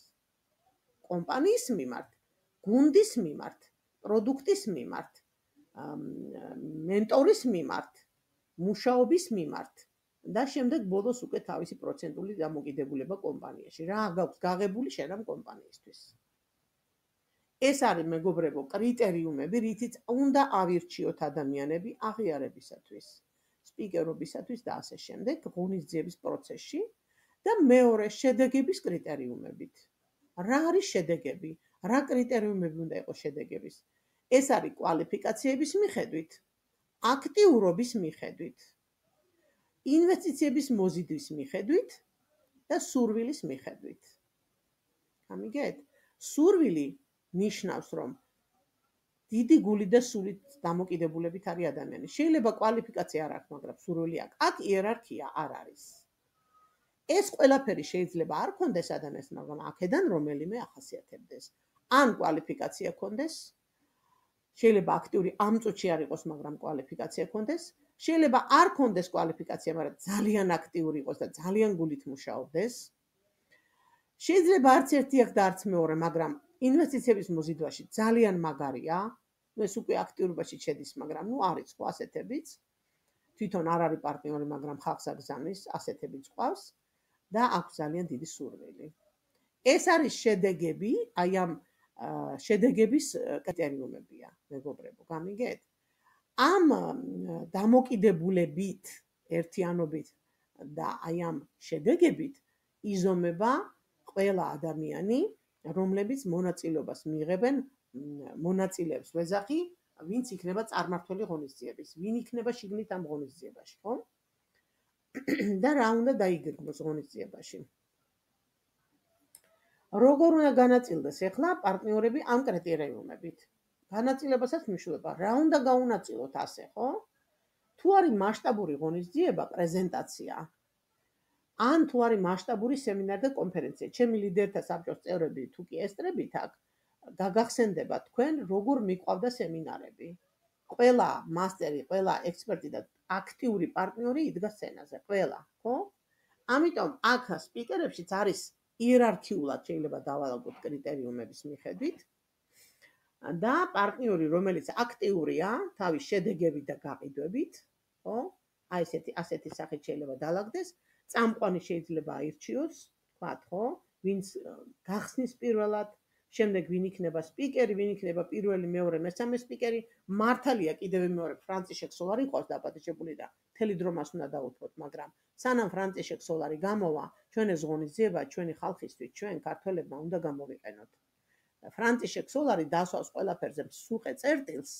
კომპანიის მიმართ, გუნდის მიმართ, პროდუქტის მიმართ, მენტორის მიმართ, მუშაობის მიმართ და შემდეგ ბოლოს უკვე თავისი პროცენტული დამოკიდებულება კომპანიაში. რა გაქვს გაღებული შენ ამ კომპანიისთვის? ეს არის მეგობრებო კრიტერიუმები, რითიც უნდა ავირჩიოთ ადამიანები აღიარებისათვის, სპიკერობისათვის და ასე შემდეგ ღონისძიების პროცესში და მეორე შედეგების კრიტერიუმებით. რა არის შედეგები? რა კრიტერიუმები უნდა იყოს შედეგების? ეს არის კვალიფიკაციების მიხედვით, აქტიურობის მიხედვით, ინვესტიციების მოზიდვის მიხედვით და სურვილის მიხედვით. გამიგეთ? სურვილი ნიშნავს, რომ დიდი გული და სულით დამოკიდებულებით არის ადამიანი. შეიძლება კვალიფიკაცია არ აქვს, მაგრამ სურვილი აქვს. აქ იერარქია არ არის. ეს ყველაფერი შეიძლება არ ქონდეს ადამიანს, მაგრამ აქედან რომელიმე ახასიათებდეს. ან კვალიფიკაცია ქონდეს, შეიძლება აქტიური ამ წუთში არ იყოს, მაგრამ კვალიფიკაცია ქონდეს, შეიძლება არ ქონდეს კვალიფიკაცია, მაგრამ ძალიან აქტიური იყოს და ძალიან გულით მუშაობდეს. შეიძლება არც ერთი აქ და არც მეორე, მაგრამ ინვესტიციების მოზიდვაში ძალიან მაგარია. ეს უკვე აქტიურობაში შედის, მაგრამ ნუ არის ხო ასეთებიც. თვითონ არ არის პარტნიორი, მაგრამ ხალხს აგზავნის, ასეთებიც ყავს და აქვს ძალიან დიდი სურვილი. ეს არის შედეგები, აი ამ შედეგების კრიტერიუმებია, მეგობრებო, გამიგეთ? ამ დამოკიდებულებით, ერთიანობით და აი ამ შედეგებით იზომება ყველა ადამიანი, რომლებიც მონაწილეობას მიიღებენ, მონაწილეებს ვეძახი, ვინც იქნება წარმმართველი ღონისძიების, ვინ იქნება შიგნით ამ ღონისძიებაში, ხო? და რა უნდა დაიგეგმოს ღონისძიებაში. როგორ უნდა განაწილდეს ახლა პარტნიორები ამ კრიტერიუმებით? განაწილებასაც მნიშვნელობა, რა უნდა გაუნაწილოთ ასე, ხო? თუ არის მასშტაბური ღონისძიება, პრეზენტაცია, ან თუ არის მასშტაბური სემინარი და კონფერენცია, ჩემი ლიდერთა საბჭოს წევრები თუ კი ესწრებით აქ, გაგახსენდება თქვენ, როგორ მიყვავდა სემინარები. ყველა მასტერი, ყველა ექსპერტი და აქტიური პარტნიორი იდგა სცენაზე, ყველა, ხო? ამიტომ აქ სპიკერებშიც არის იერარქიულად შეიძლება დავალაგოთ კრიტერიუმების მიხედვით და პარტნიორი, რომელიც აქტიურია თავის შედეგებით და გაყიდვებით, ხო? აი ესეთი ასეთი სახით შეიძლება დაალაგდეს, წამყვანი შეიძლება აირჩიოს, თქვათ, ხო? ვინც გახსნის პირველად, შემდეგ ვინ იქნება სპიკერი, ვინ იქნება პირველი, მეორე, მესამე სპიკერი, მართალია კიდევ მეორე ფრანციშეკ სოლარი ყავს დაპატიჟებული და მთელი დრო მას უნდა დაუთმოთ, მაგრამ სანამ ფრანციშეკ სოლარი გამოვა, ჩვენ ეს ღონისძიება ჩვენი ხალხისთვის, ჩვენ ქართველებმა უნდა გამოვიყენოთ. ფრანციშეკ სოლარი დასვავს ყველაფერზე მსუყე წერტილს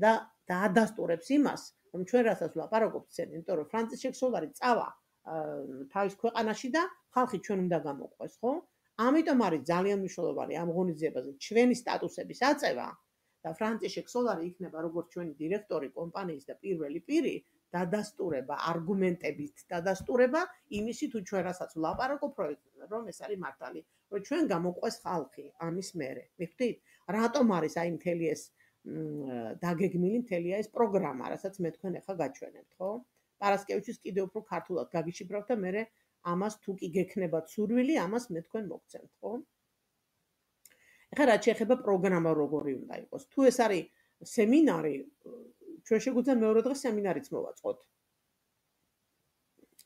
და დაადასტურებს იმას, რომ ჩვენ რასაც ვლაპარაკობთ ცენ, იმიტომ რომ ფრანციშეკ სოლარი წავა თავის ქვეყანაში და ხალხი ჩვენ უნდა გამოყვეს, ხო? ამიტომ არის ძალიან მნიშვნელოვანი ამ ღონისძიებაზე ჩვენი სტატუსების აწევა და ფრანციშეკ სოლარი იქნება როგორც ჩვენი დირექტორი კომპანიის და პირველი პირი, დადასტურება არგუმენტებით, დადასტურება იმისი თუ ჩვენ რასაც ვლაპარაკობ, რომ ეს არის მართალი, რომ ჩვენ გამოყვეს ხალხი ამის მერე. მიხვდით? რატომ არის აი მთელი ეს დაგეგმილი მთელი ეს პროგრამა, რასაც მე თქვენ ახლა გაჩვენებთ, ხო? პარასკევიჩის კიდევ უფრო ქართულად გაგიშიფრავთ და მე ამას თუ კი გექნებათ სურვილი, ამას მე თქვენ მოგცემთ, ხო? ეხლა რაც შეეხება პროგრამა როგორი უნდა იყოს. თუ ეს არის სემინარი, ჩვენ შეგვიძლია მეორე დღე სემინარიც მოვაწყოთ.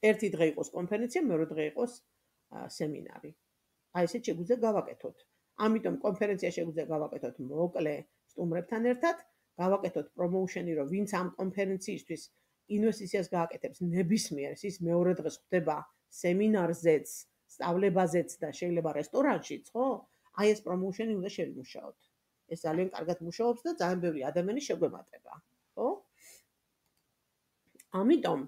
ერთი დღე იყოს კონფერენცია, მეორე დღე იყოს სემინარი. აი ესეთ შეგვიძლია გავაკეთოთ. ამიტომ კონფერენცია შეგვიძლია გავაკეთოთ მოკლე სტუმრებთან ერთად, გავაკეთოთ პრომოუშენი, რომ ვინც ამ კონფერენციისთვის ინვესტიციას გააკეთებს ნებისმიერ, ის მეორე დღეს ხდება სემინარზეც, სწავლებაზეც და შეიძლება რესტორანშიც, ხო? აი ეს პრომოუშენი უნდა შევიმუშაოთ. ეს ძალიან კარგად მუშაობს და ძალიან ბევრი ადამიანი შეგვემატება, ხო? ამიტომ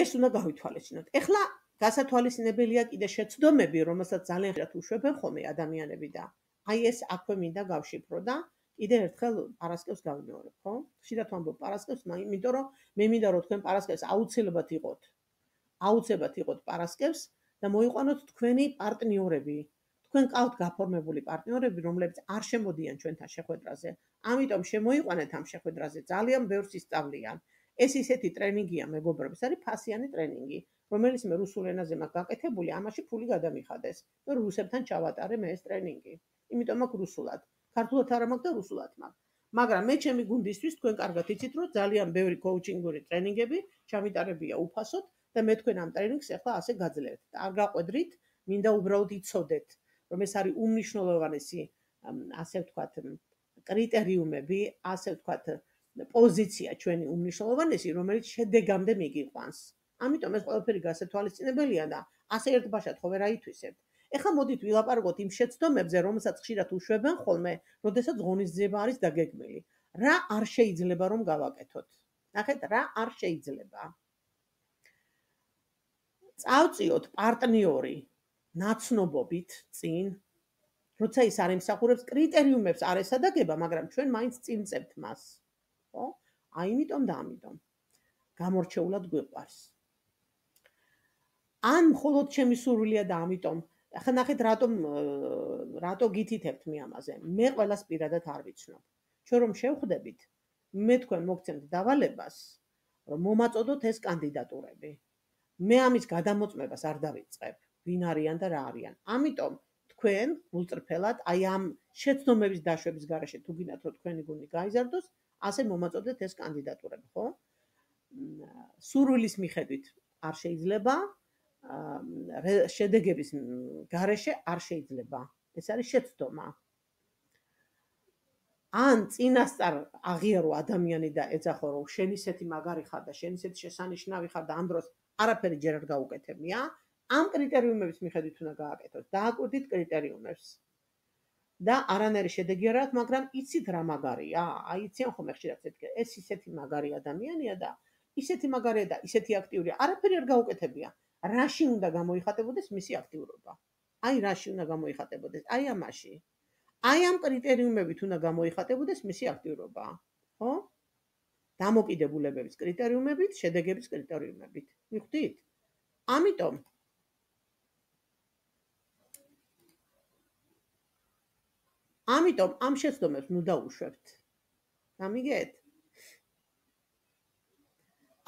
ეს უნდა გავითვალისწინოთ. ეხლა გასათვალისწინებელია კიდე შეცდომები, რომელსაც ძალიან ხშირად უშვებენ ხოლმე ადამიანები და აი ეს აქვე მინდა გავშიფრო და კიდე ერთხელ პარასკევს გავიმეორებ, ხო? ხშირად ვამბობ პარასკევს, იმიტომ რომ მე მინდა რომ თქვენ პარასკევს აუცილებლად იყოთ. აუცილებლად იყოთ პარასკევს და მოიყვანოთ თქვენი პარტნიორები. თქვენ ყავთ გაფორმებული პარტნიორები, რომლებიც არ შემოდიან ჩვენთან შეხვედრაზე. ამიტომ შემოიყვანეთ ამ შეხვედრაზე, ძალიან ბევრს ისწავლიან. ეს ისეთი ტრენინგია, მეგობრებო, ეს არის ფასიანი ტრენინგი, რომელიც მე რუსულ ენაზე მაქვს გაკეთებული, ამაში ფული გადამიხადეს. მე რუსებთან ჩავატარე მე ეს ტრენინგი. იმიტომ მაქვს რუსულად. ქართულად არ მაქვს და რუსულად მაქვს. მაგრამ მე ჩემი გუნდისთვის თქვენ კარგად იცით, რომ ძალიან ბევრი კოუჩინგური ტრენინგები ჩამიტარებია უფასოდ და მე თქვენ ამ ტრენინგს ახლა ასე გაძლევთ. და არ გაყვედრით, მინდა უბრალოდ იცოდეთ, რომ ეს არის უმნიშვნელოვანესი, ასე ვთქვათ, კრიტერიუმები, ასე ვთქვათ, პოზიცია ჩვენი უმნიშვნელოვანესი, რომელიც შედეგამდე მიგიყვანს. ამიტომ ეს ყველაფერი გასათვალისწინებელია და ასე ერთბაშად ხო ვერ აითვისებთ. ეხლა მოდით ვილაპარაკოთ იმ შეცდომებზე, რომელსაც ხშირად უშვებენ ხოლმე, როდესაც ღონისძიება არის დაგეგმილი. რა არ შეიძლება რომ გავაკეთოთ? ნახეთ, რა არ შეიძლება. წავწიოთ პარტნიორი ნაცნობობით წინ, როცა ის არ ემსახურებს კრიტერიუმებს არ ესადაგება, მაგრამ ჩვენ მაინც წინ წევთ მას. ხო? აი იმიტომ და ამიტომ. გამორჩეულად გვიყვარს. ან მხოლოდ ჩემი სურვილია და ამიტომ, ახლა ნახეთ რატომ რატო გითითებთ მე ამაზე. მე ყველას პირადად არ ვიცნობ. ჩვენ რომ შევხვდებით, მე თქვენ მოგცემთ დავალებას, რომ მომაწოდოთ ეს კანდიდატურები. მე ამის გადამოწმებას არ დავიწყებ, ვინ არიან და რა არიან. ამიტომ თქვენ გულწრფელად აი ამ შეცდომების დაშვების გარეშე თუ გინდათ რომ თქვენი გუნდი გაიზარდოს, ასე მომაწოდეთ ეს კანდიდატურები, ხო? სურვილის მიხედვით არ შეიძლება, შედეგების გარეშე არ შეიძლება. ეს არის შეცდომა. ან წინასწარ აღიარო ადამიანი და ეძახო რომ შენ ისეთი მაგარი ხარ და შენ ისეთი შესანიშნავი ხარ და ამ დროს არაფერი ჯერ არ გაუკეთებია, ამ კრიტერიუმების მიხედვით უნდა გააკეთოთ. დააკვირდით კრიტერიუმებს. და არანაირი შედეგი არ აქვს, მაგრამ იცით რა მაგარია? აი იციან ხოლმე ხშირად ეთქე, ეს ისეთი მაგარი ადამიანია და ისეთი მაგარია და ისეთი აქტიურია. არაფერი არ გაუკეთებია. რაში უნდა გამოიხატებოდეს მისი აქტიურობა? აი რაში უნდა გამოიხატებოდეს? აი ამაში. აი ამ კრიტერიუმებით უნდა გამოიხატებოდეს მისი აქტიურობა. ხო? დამოკიდებულებების კრიტერიუმებით, შედეგების კრიტერიუმებით. მიხვდით? ამიტომ ამიტომ ამ შეცდომებს ნუ დაუშვებთ. გამიგეთ?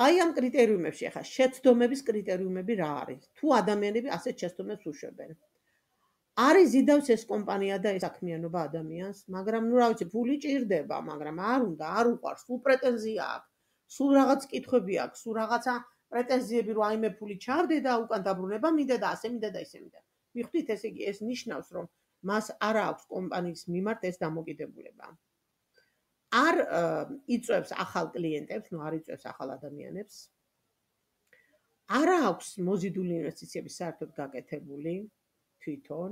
აი ამ კრიტერიუმებში ახლა შეცდომების კრიტერიუმები რა არის? თუ ადამიანები ასეთ შეცდომებს უშვებენ. არის ზიდავს ეს კომპანია და ეს საქმიანობა ადამიანს, მაგრამ ნუ რა ვიცი, ფული ჭირდება, მაგრამ არ უნდა, არ უყვარს, სულ პრეტენზია აქვს, სულ რაღაც კითხვები აქვს, სულ რაღაცა პრეტენზიები რომ აი მე ფული ჩავდე და უკან დაბრუნება მინდა და ასე მინდა და ისე მინდა. მიხვდით, ესე იგი ეს ნიშნავს, რომ მას არ აქვს კომპანიის მიმართ ეს დამოკიდებულება. არ იწვევს ახალ კლიენტებს, ნუ არ იწვევს ახალ ადამიანებს. არ აქვს მოზიდული ინვესტიციები საერთოდ გაკეთებული თვითონ.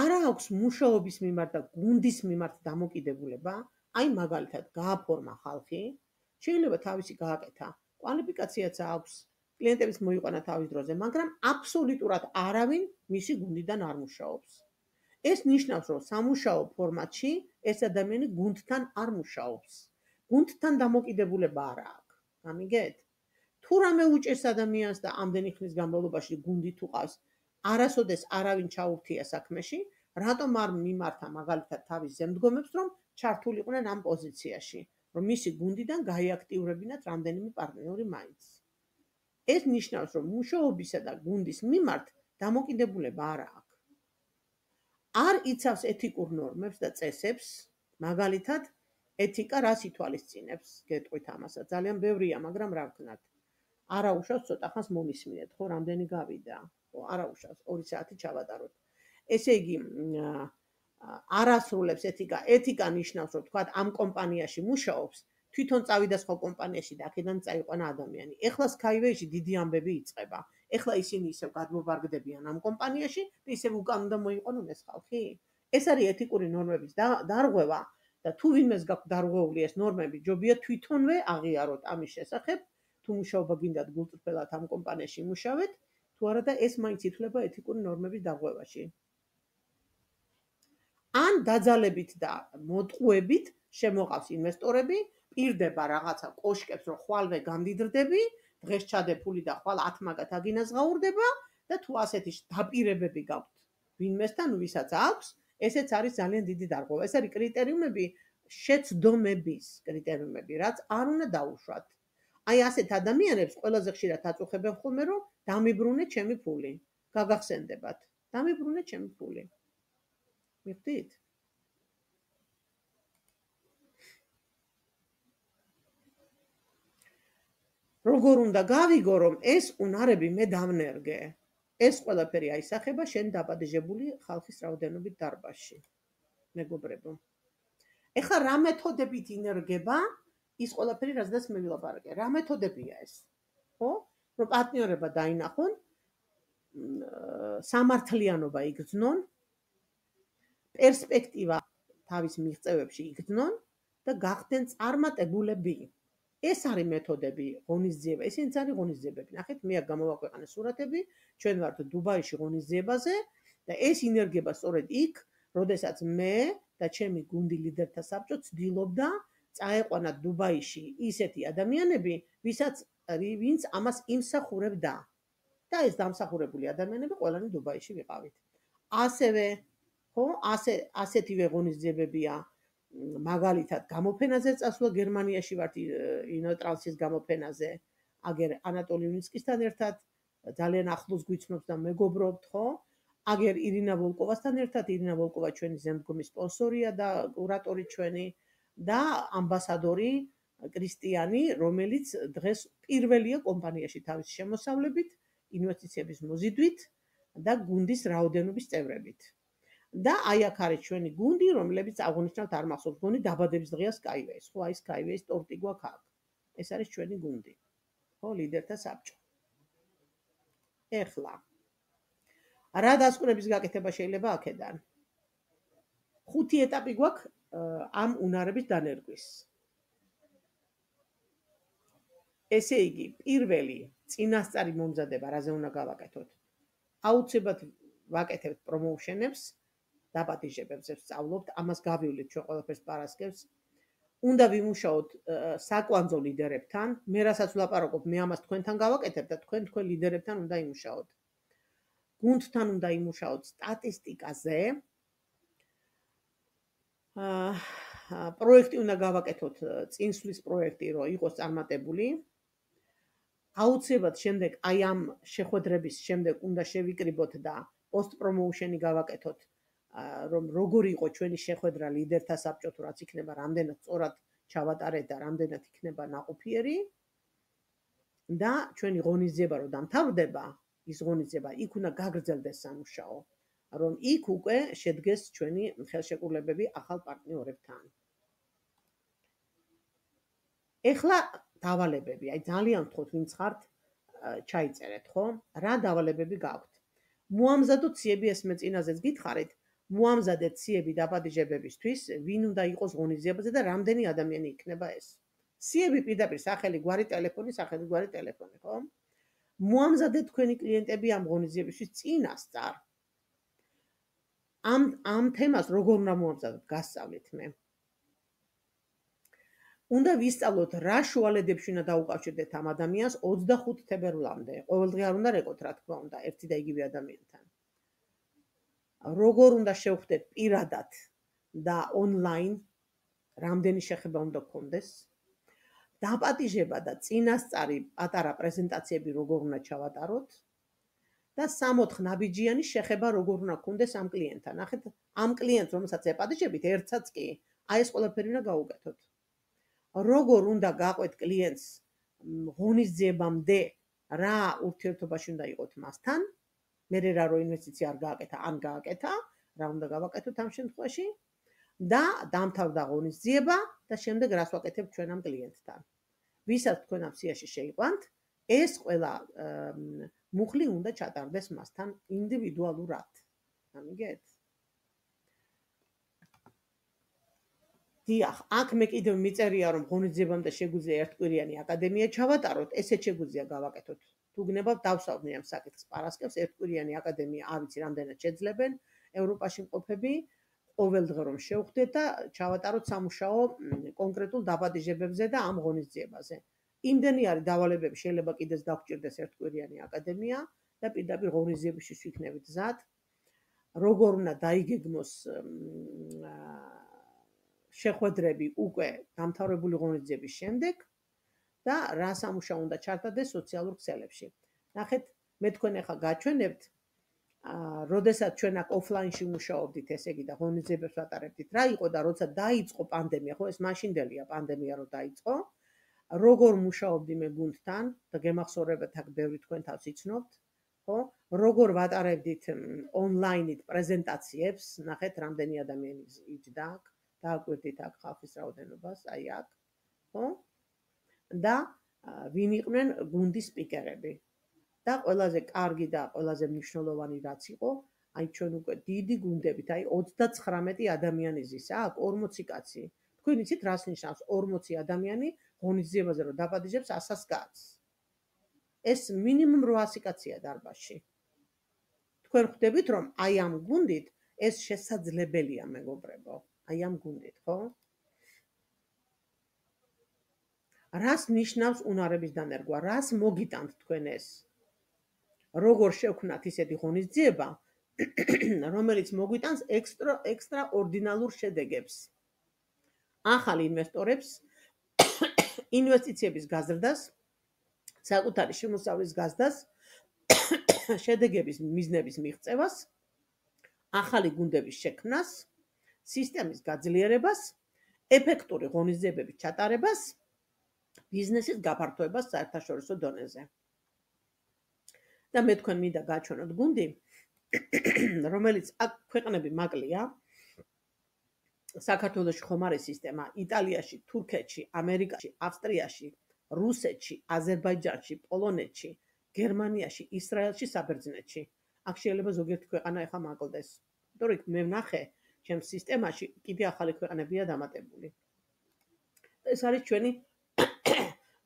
არ აქვს მუშაობის მიმართ და გუნდის მიმართ დამოკიდებულება, აი მაგალითად გააფორმა ხალხი, შეიძლება თავისი გააკეთა, კვალიფიკაციაც აქვს, კლიენტების მოიყვანა თავის დროზე, მაგრამ აბსოლუტურად არავინ მისი გუნდიდან არ მუშაობს. ეს ნიშნავს, რომ სამუშაო ფორმატში ეს ადამიანი გუნდთან არ მუშაობს. გუნდთან დამოკიდებულება არ აქვს. გამიგეთ? თუ რამე უჭერს ადამიანს და ამდენი ხნის განმავლობაში გუნდი თუ ყავს, არასოდეს არავინ ჩაურთია საქმეში, რატომ არ მიმართა მაგალითად თავის ზემდგომებს, რომ ჩართულიყვნენ ამ პოზიციაში, რომ მისი გუნდიდან გაიაქტიურებინათ რამდენიმე პარტნიორი მაინც. ეს ნიშნავს, რომ მუშაობისა და გუნდის მიმართ დამოკიდებულება არ აქვს. არ იცავს ეთიკურ ნორმებს და წესებს, მაგალითად, ეთიკა რას ითვალისწინებს, გეტყვით ამასაც, ძალიან ბევრია, მაგრამ რა ვქნათ. არა უშავს ცოტა ხანს მომისმინეთ, ხო, რამდენი გავიდა, ხო, არა უშავს, ორი საათი ჩავატაროთ. ესე იგი, არასრულებს ეთიკა, ეთიკა ნიშნავს, რომ თქვათ, ამ კომპანიაში მუშაობს, თვითონ წავიდა სხვა კომპანიაში და აქედან წაიყვანა ადამიანი. ეხლა Skyway-ში დიდი ამბები იწყება. ეხლა ისინი ისევ გადმოვარგდებიან ამ კომპანიაში და ისევ უკან უნდა მოიყვანონ ეს ხალხი. ეს არის ეთიკური ნორმების დარღვევა და თუ ვინმეს გაქვს დარღვეული ეს ნორმები, ჯობია თვითონვე აღიაროთ ამის შესახებ, თუ მუშაობა გინდათ გულწრფელად ამ კომპანიაში იმუშავეთ, თუ არა და ეს მაინც ითვლება ეთიკური ნორმების დარღვევაში. ან დაძალებით და მოტყუებით შემოყავს ინვესტორები, პირდება რაღაცა კოშკებს, რომ ხვალვე გამდიდრდები, დღეს ჩადე ფული და ხვალ ათ მაგათ აგინაზღაურდება და თუ ასეთი დაპირებები გაქვთ ვინმესთან, ვისაც აქვს, ესეც არის ძალიან დიდი დარღვევა. ეს არის კრიტერიუმები, შეცდომების კრიტერიუმები, რაც არ უნდა დაუშვათ. აი ასეთ ადამიანებს ყველაზე ხშირად აწუხებენ ხოლმე, რომ დამიბრუნე ჩემი ფული. გაგახსენდებათ. დამიბრუნე ჩემი ფული. მიხვდით? როგორ უნდა გავიგო, რომ ეს უნარები მე დავნერგე. ეს ყველაფერი აისახება შენ დაბადებული ხალხის რაოდენობით დარბაზში. მეგობრებო. ეხლა რა მეთოდებით ინერგება ის ყველაფერი, რაზედაც მე ვილაპარაკე? რა მეთოდებია ეს? ხო? რომ პარტნიორება დაინახონ, სამართლიანობა იგრძნონ, პერსპექტივა თავის მიღწევებში იგრძნონ და გახდნენ წარმატებულები. ეს არის მეთოდები ღონისძიება, ესენიც არის ღონისძიებები. ნახეთ, მე აქ გამოვაქვეყნე სურათები, ჩვენ ვართ დუბაიში ღონისძიებაზე და ეს ინერგება სწორედ იქ, როდესაც მე და ჩემი გუნდი ლიდერთა საბჭო ცდილობდა წაეყვანათ დუბაიში ისეთი ადამიანები, ვისაც ვინც ამას იმსახურებდა. და ეს დამსახურებული ადამიანები ყველანი დუბაიში ვიყავით. ასევე, ხო, ასე ასეთივე ღონისძიებებია მაგალითად გამოფენაზე წასვლა გერმანიაში ვართ ინოტრანსის გამოფენაზე, აგერ ანატოლი უნიცკისთან ერთად ძალიან ახლოს გვიცნობს და მეგობრობთ, ხო? აგერ ირინა ვოლკოვასთან ერთად, ირინა ვოლკოვა ჩვენი ზემდგომი სპონსორია და კურატორი ჩვენი და ამბასადორი კრისტიანი, რომელიც დღეს პირველია კომპანიაში თავის შემოსავლებით, ინვესტიციების მოზიდვით და გუნდის რაოდენობის წევრებით. და აი აქ არის ჩვენი გუნდი, რომლებიც აღნიშნავთ არ მახსოვს, გონი დაბადების დღეა Skyway-ს, ხო, აი Skyway-ს ტორტი გვაქვს აქ. ეს არის ჩვენი გუნდი. ხო, ლიდერთა საბჭო. ეხლა რა დასკვნების გაკეთება შეიძლება აქედან? ხუთი ეტაპი გვაქვს ამ უნარების დანერგვის. ესე იგი, პირველი წინასწარი მომზადება, რაზე უნდა გავაკეთოთ? აუცილებლად ვაკეთებთ პრომოუშენებს, დაპატიჟებებს ვსწავლობთ, ამას გავივლით ჩვენ ყველაფერს პარასკევს. უნდა ვიმუშაოთ საკვანძო ლიდერებთან, მე რასაც ვლაპარაკობ, მე ამას თქვენთან გავაკეთებ და თქვენ თქვენ ლიდერებთან უნდა იმუშაოთ. გუნდთან უნდა იმუშაოთ სტატისტიკაზე. პროექტი უნდა გავაკეთოთ, წინსვლის პროექტი, რომ იყოს წარმატებული. აუცილებლად შემდეგ აი ამ შეხვედრების შემდეგ უნდა შევიკრიბოთ და პოსტ პრომოუშენი გავაკეთოთ, რომ როგორი იყო ჩვენი შეხვედრა ლიდერთა საბჭო თუ რაც იქნება, რამდენად სწორად ჩავატარეთ და რამდენად იქნება ნაყოფიერი. და ჩვენი ღონისძიება რომ დამთავრდება, ის ღონისძიება იქ უნდა გაგრძელდეს სამუშაო, რომ იქ უკვე შედგეს ჩვენი ხელშეკრულებები ახალ პარტნიორებთან. ეხლა დავალებები, აი ძალიან ვთქვათ, ვინც ხართ, ჩაიწერეთ, ხო? რა დავალებები გაქვთ? მოამზადოთ ციები, ეს მე წინაზეც გითხარით, მოამზადეთ ციები დაპატიჟებებისთვის, ვინ უნდა იყოს ღონისძიებაზე და რამდენი ადამიანი იქნება ეს. ციები პირდაპირ სახელი, გვარი, ტელეფონი, სახელი, გვარი, ტელეფონი, ხო? მოამზადეთ თქვენი კლიენტები ამ ღონისძიებისთვის წინასწარ. ამ ამ თემას როგორ უნდა მოამზადოთ, გასწავლით მე. უნდა ვისწავლოთ რა შუალედებში უნდა დაუკავშირდეთ ამ ადამიანს ოცდახუთი თებერვლამდე. ყოველდღე არ უნდა რეკოთ, რა თქმა უნდა, ერთი და იგივე ადამიანთან. როგორ უნდა შევხვდეთ პირადად და ონლაინ, რამდენი შეხება უნდა გქონდეს. დაპატიჟება და წინასწარი პატარა პრეზენტაციები როგორ უნდა ჩავატაროთ და სამოთხ ნაბიჯიანი შეხება როგორ უნდა გქონდეს ამ კლიენტთან. ნახეთ, ამ კლიენტს, რომელსაც ეპატიჟებით, ერთსაც კი, აი ეს ყველაფერი უნდა გაუკეთოთ. როგორ უნდა გაყვეთ კლიენტს ღონისძიებამდე, რა ურთიერთობაში უნდა იყოთ მასთან, მერე რა რო ინვესტიცია არ გააკეთა, ან გააკეთა, რა უნდა გავაკეთოთ ამ შემთხვევაში და დამთავრდა ღონისძიება და შემდეგ რას ვაკეთებთ ჩვენ ამ კლიენტთან. ვისაც თქვენ ამ სიაში შეიყვანთ, ეს ყველა მუხლი უნდა ჩატარდეს მასთან ინდივიდუალურად. ამიგეთ? დიახ, აქ მე კიდევ მიწერია, რომ ღონისძიებამდე შეგვიძლია ერთკვირიანი აკადემია ჩავატაროთ, ესეც შეგვიძლია გავაკეთოთ. თუ გნებავთ, დავსავნე ამ საკითხს პარასკევს, ერთკვირიანი აკადემია, არ ვიცი რამდენად შეძლებენ ევროპაში მყოფები, ყოველდღე რომ შევხვდეთ და ჩავატაროთ სამუშაო კონკრეტულ დაპატიჟებებზე და ამ ღონისძიებაზე. იმდენი არის დავალებები, შეიძლება კიდეც დაგჭირდეს ერთკვირიანი აკადემია და პირდაპირ ღონისძიებისთვის ვიქნებით მზად. როგორ უნდა დაიგეგმოს შეხვედრები უკვე დამთავრებული ღონისძიების შემდეგ და რა სამუშაო უნდა ჩართდეს სოციალურ ქსელებში. ნახეთ, მე თქვენ ახლა გაჩვენებთ, როდესაც ჩვენ აქ ოფლაინში მუშაობდით, ესე იგი და ღონისძიებებს ვატარებდით, რა იყო და როცა დაიწყო პანდემია, ხო, ეს მაშინდელია პანდემია რო დაიწყო, როგორ მუშაობდი მე გუნდთან და გემახსოვრებათ აქ ბევრი თქვენ თავს იცნობთ, ხო? როგორ ვატარებდით ონლაინით პრეზენტაციებს, ნახეთ, რამდენი ადამიანი იჯდა აქ. დააკვირდით აქ ხალხის რაოდენობას, აი აქ, ხო? და ვინ იყვნენ გუნდის სპიკერები. და ყველაზე კარგი და ყველაზე მნიშვნელოვანი რაც იყო, აი ჩვენ უკვე დიდი გუნდებით, აი ოცდაცხრამეტი ადამიანი ზის აქ, ორმოცი კაცი. თქვენ იცით რას ნიშნავს ორმოცი ადამიანი ღონისძიებაზე რომ დაპატიჟებს ასას კაცს. ეს მინიმუმ რვაასი კაცია დარბაზში. თქვენ ხვდებით რომ აი ამ გუნდით ეს შესაძლებელია მეგობრებო, აი ამ გუნდით, ხო? რას ნიშნავს უნარების დანერგვა? რას მოგიტანთ თქვენ ეს? როგორ შევქნათ ისეთი ღონისძიება, რომელიც მოგვიტანს ექსტრა ექსტრაორდინალურ შედეგებს. ახალ ინვესტორებს, ინვესტიციების გაზრდას, საკუთარი შემოსავლის გაზრდას, შედეგების მიზნების მიღწევას, ახალი გუნდების შექმნას, სისტემის გაძლიერებას, ეფექტური ღონისძიებების ჩატარებას, ბიზნესის გაფართოებას საერთაშორისო დონეზე. და მე თქვენ მინდა გაჩვენოთ გუნდი, რომელიც აქ ქვეყნები მაკლია, საქართველოში ხომ არის სისტემა, იტალიაში, თურქეთში, ამერიკაში, ავსტრიაში, რუსეთში, აზერბაიჯანში, პოლონეთში, გერმანიაში, ისრაელში, საბერძნეთში. აქ შეიძლება ზოგიერთი ქვეყანა ეხა მაკლდეს. იმიტომ რომ მე ვნახე, ჩემს სისტემაში კიდე ახალი ქვეყნებია დამატებული. ეს არის ჩვენი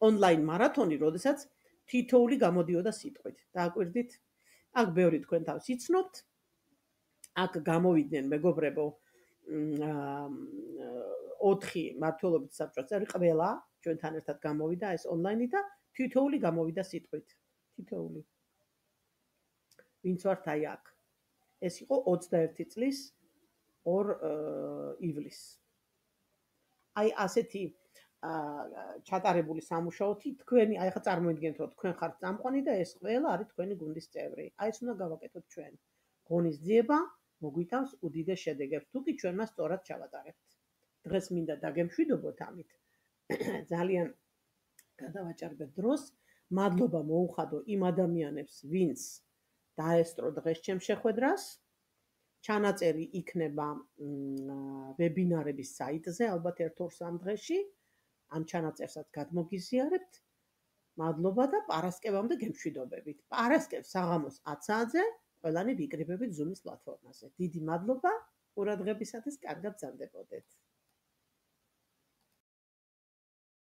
ონლაინ მარათონი, როდესაც თითოეული გამოდიოდა სიტყვით. დააკვირდით? აქ ბევრი თქვენ თავს იცნობთ. აქ გამოვიდნენ მეგობრებო ოთხი მმართველობით საბჭოს წევრი, ყველა ჩვენთან ერთად გამოვიდა ეს ონლაინი და თითოეული გამოვიდა სიტყვით. თითოეული. ვინც ვართ აი აქ. ეს იყო ოცდაერთი წლის ორ ივლისს. აი ასეთი ჩატარებული სამუშაოთი თქვენი, აი ხა წარმოიდგინეთ რომ თქვენ ხართ წამყვანი და ეს ყველა არის თქვენი გუნდის წევრი. აი ეს უნდა გავაკეთოთ ჩვენ. ღონისძიება მოგვიტანს უდიდეს შედეგებს, თუ კი ჩვენ მას სწორად ჩავატარებთ. დღეს მინდა დაგემშვიდობოთ ამით. ძალიან გადავაჭარბეთ დროს. მადლობა მოუხადო იმ ადამიანებს, ვინც დაესწრო დღეს ჩემ შეხვედრას. ჩანაწერი იქნება ვებინარების საიტზე, ალბათ ერთ-ორ სამ დღეში. ამ ჩანაწერსაც გადმოგიზიარებთ. მადლობა და პარასკევამდე გემშვიდობებით. პარასკევს საღამოს ათ საათზე ყველანი ვიკრიბებით Zoom-ის პლატფორმაზე. დიდი მადლობა ყურადღებისათვის, კარგად გრძანდებოდეთ.